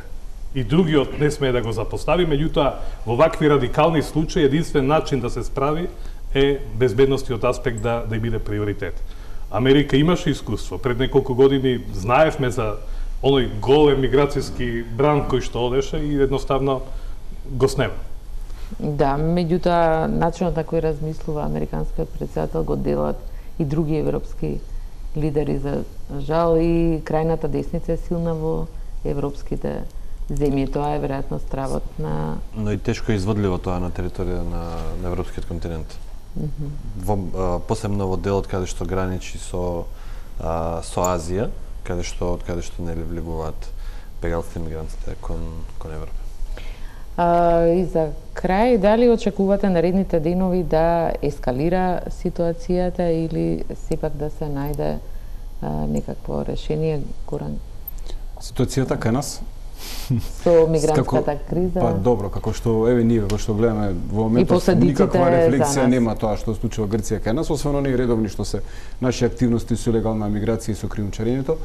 И другиот не смее да го запостави, меѓутоа во вакви радикални случаи единствен начин да се справи е безбедносниот аспект да да биде приоритет. Америка имаше искуство. Пред неколку години знаевме за оној голем миграцијски бранд кој што одеше и едноставно го снема. Да, меѓутоа начинот на кој размислува американскиот претседател го делат и други европски лидери, за жал, и крајната десница е силна во европските земји. Тоа е веројатно стравот на... Но и тешко е изводливо тоа на територија на, на европскиот континент. Mm -hmm. Во, а, посебно во делот каде што граничи со, а, со Азија, каде што, од каде што нели влегуваат бегалците и мигрантите кон, кон Европа. А, и за крај, дали очекувате наредните денови да ескалира ситуацијата или сепак да се најде а, некакво решение, Горан? Ситуацијата кај нас со мигрантската криза? Па добро, како што еве ние како што гледаме во моментот никаква рефлексија нема тоа што случува Грција кај нас, освен оние редовни што се наши активности со легална миграција и со криумчарењето.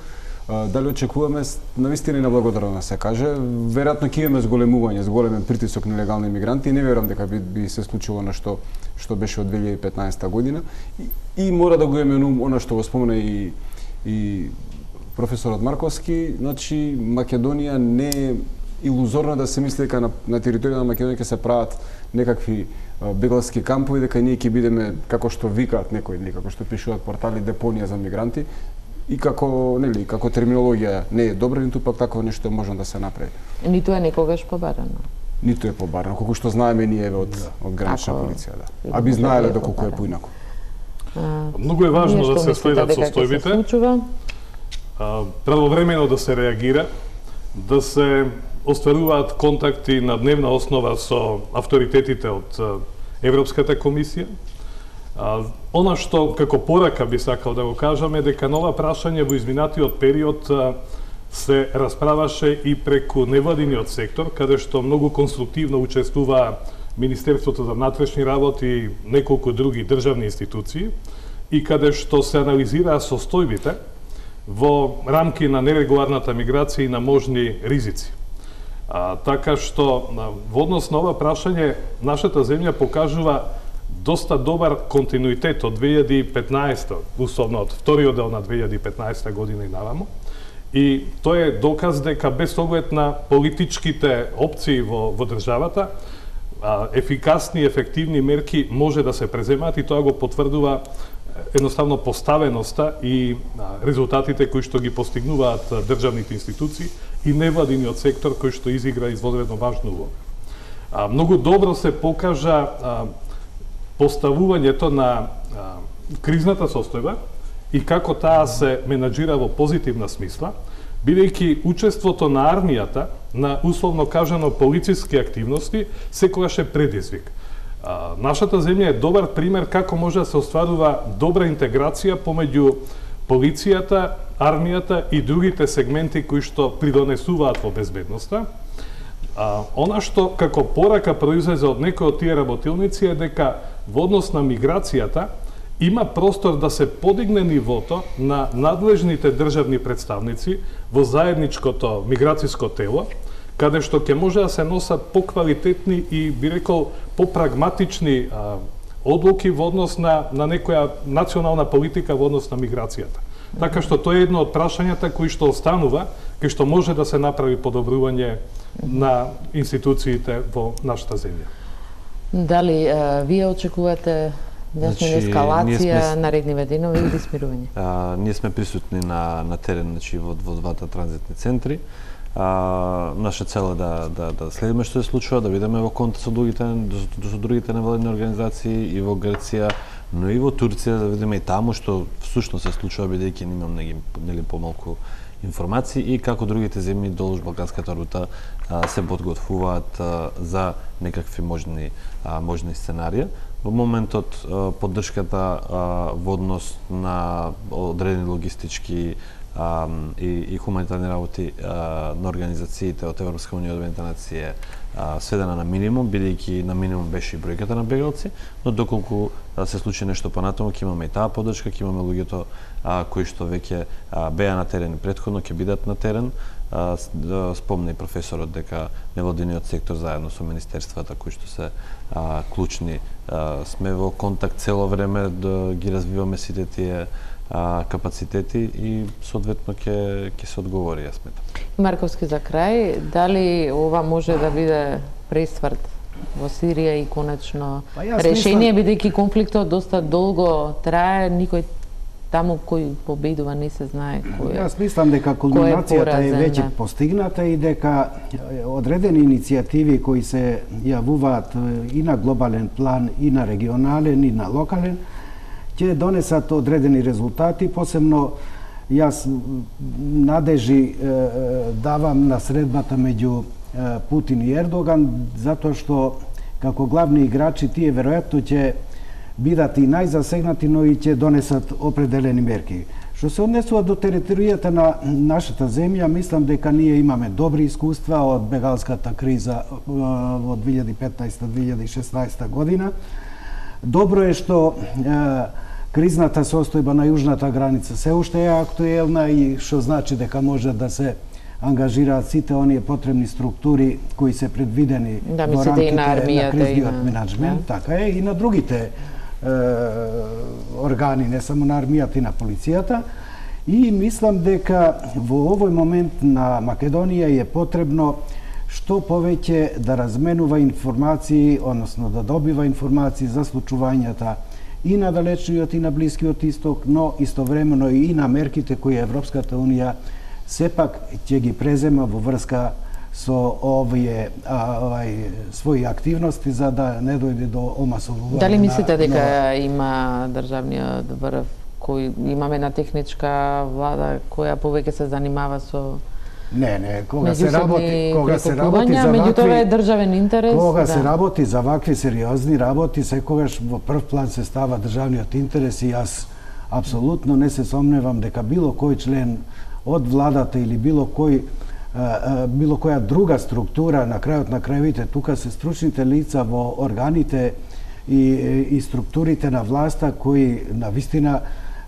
Дали очекуваме навистина на благодарно да се каже, веројатно ќе имаме зголемување, зголемен притисок на легални мигранти и не верувам дека би, би се случило на што што беше од две илјади и петнаесета година и, и мора да го имаме она што го спомена и и професорот Марковски, значи Македонија не е илузорно да се мисли дека на, на територија на Македонија ќе се прават некакви бегалски кампови, дека ние ќе бидеме како што викаат некои или како што пишуваат портали депонија за мигранти. И како, нели, како терминологија не е добра, ниту пак такво нешто може да се направи. Ниту е некогаш побарано. Ниту е побарано, колку што знаеме ние од да. од гранична ако... полиција, да. А би знаеле доколку е поинаку. Многу е важно да се следат состојбите. Правовремено да се реагира, да се остваруваат контакти на дневна основа со авторитетите од Европската комисија. Она што како порака би сакал да го кажам е дека нова прашање во изминатиот период се расправаше и преку невладиниот сектор, каде што многу конструктивно учествуваа Министерството за внатрешни работи и неколку други државни институции и каде што се анализираа состојбите во рамки на нерегуларната миграција и на можни ризици. А, така што во однос на ова прашање нашата земја покажува доста добар континуитет од две илјади и петнаесета, условно од вториот дел на две илјади и петнаесета година и наваму. И тоа е доказ дека без оглед на политичките опции во, во државата, а, ефикасни и ефективни мерки може да се преземаат и тоа го потврдува едноставно поставеноста и а, резултатите кои што ги постигнуваат државните институции и невладиниот сектор кој што изигра изводредно важна улога. А, многу добро се покажа а, поставувањето на а, кризната состојба и како таа се менаџира во позитивна смисла, бидејќи учеството на армијата на условно кажано полициски активности секогаш е предизвик. А, нашата земја е добар пример како може да се остварува добра интеграција помеѓу полицијата, армијата и другите сегменти кои што придонесуваат во безбедноста. А, она што како порака произлезе од некои од тие работилници е дека во однос на миграцијата има простор да се подигне нивото на надлежните државни представници во заедничкото миграцијско тело, каде што ќе може да се носат поквалитетни и, би рекол, попрагматични а, одлуки во однос на, на некоја национална политика во однос на миграцијата. Така што тоа е едно од прашањата кои што останува, кај што може да се направи подобрување на институциите во нашата земја. Дали а, вие очекувате да сме Значи, ескалација сме... на редни вединови или смирување? А, ние сме присутни на, на терен, значи, во, во двата транзитни центри. А, наша цел е да, да, да следиме што се случува, да видиме во контакт со другите, со другите невладини организации и во Грција, но и во Турција, да видиме и таму што всушност се случува, бидејќи немам нели помалку информации и како другите земји долж Балканската рута а, се подготвуваат а, за некакви можни а, можни сценарија. Во моментот а, поддршката а, во однос на одредени логистички а, и, и хуманитарни работи а, на организациите од Европска унија и Обединетите нации е сведена на минимум, бидејќи на минимум беше и бројката на бегалци, но доколку а, се случи нешто понатаму, ќе имаме и таа поддршка, ќе имаме луѓето а, кои што веќе а, беа на терен и претходно ќе бидат на терен. А, спомна и професорот дека невладиниот сектор заедно со министерствата кои што се а, клучни а, сме во контакт цело време да ги развиваме сите тие а, капацитети и соодветно ќе ќе се одговори, јас сметам. Марковски, за крај, дали ова може да биде пресврт во Сирија и конечно па решение, мислам... бидејќи конфликтот доста долго трае, никој таму кој победува не се знае кој е. Јас мислам дека кулминацијата е, е веќе постигната и дека одредени иницијативи кои се јавуваат и на глобален план, и на регионален, и на локален, ќе донесат одредени резултати, посебно јас надежи давам на средбата меѓу Путин и Ердоган, затоа што како главни играчи тие веројатно ќе бидат и најзасегнати, но и ќе донесат определени мерки. Што се однесува до територијата на нашата земја, мислам дека ние имаме добри искуства од бегалската криза во две илјади и петнаесета - две илјади и шеснаесета година. Добро е што кризната состојба на јужната граница се уште е актуелна и што значи дека може да се ангажираат сите оние потребни структури кои се предвидени да, во рамките на, на кризниот на... менеджмент, да. така е, и на другите е, органи, не само на армијата и на полицијата. И мислам дека во овој момент на Македонија е потребно што повеќе да разменува информации, односно да добива информации за случувањата и на далечниот и на Блискиот исток, но истовремено и на мерките кои Европската унија сепак ќе ги презема во врска со овие а, овај, своји активности за да не дојде до омасовување. Дали мислите дека на... има државниот врв кој имаме една техничка влада која повеќе се занимава со Не, не, кога се работи, кога се работи за вакви, вакви, е државен интерес, кога да. се работи за вакви сериозни работи, секогаш во прв план се става државниот интерес и јас апсолутно не се сомневам дека било кој член од владата или било кој било која друга структура, на крајот на крајовите, тука се стручните лица во органите и, и структурите на власта кои на вистина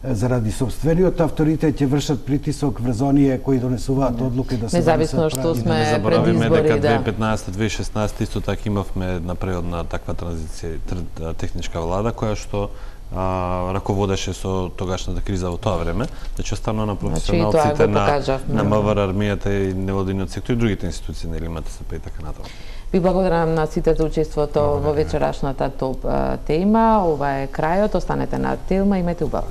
заради собствениот авторитет ќе вршат притисок врз оние кои донесуваат одлуки да се независно што сме не заборавиме пред избори, дека да. две илјади и петнаесета - две илјади и шеснаесета исто така имавме една преодна таква транзиција, техничка влада која што а, раководеше со тогашната криза во тоа време, значи останува на професионалците на, на МВР, армијата и невладиниот сектор и другите институции, нели МТСП и така натаму. Ви благодарам на сите за учеството во вечерашната топ тема. Ова е крајот, останете на Телма, имајте убаво.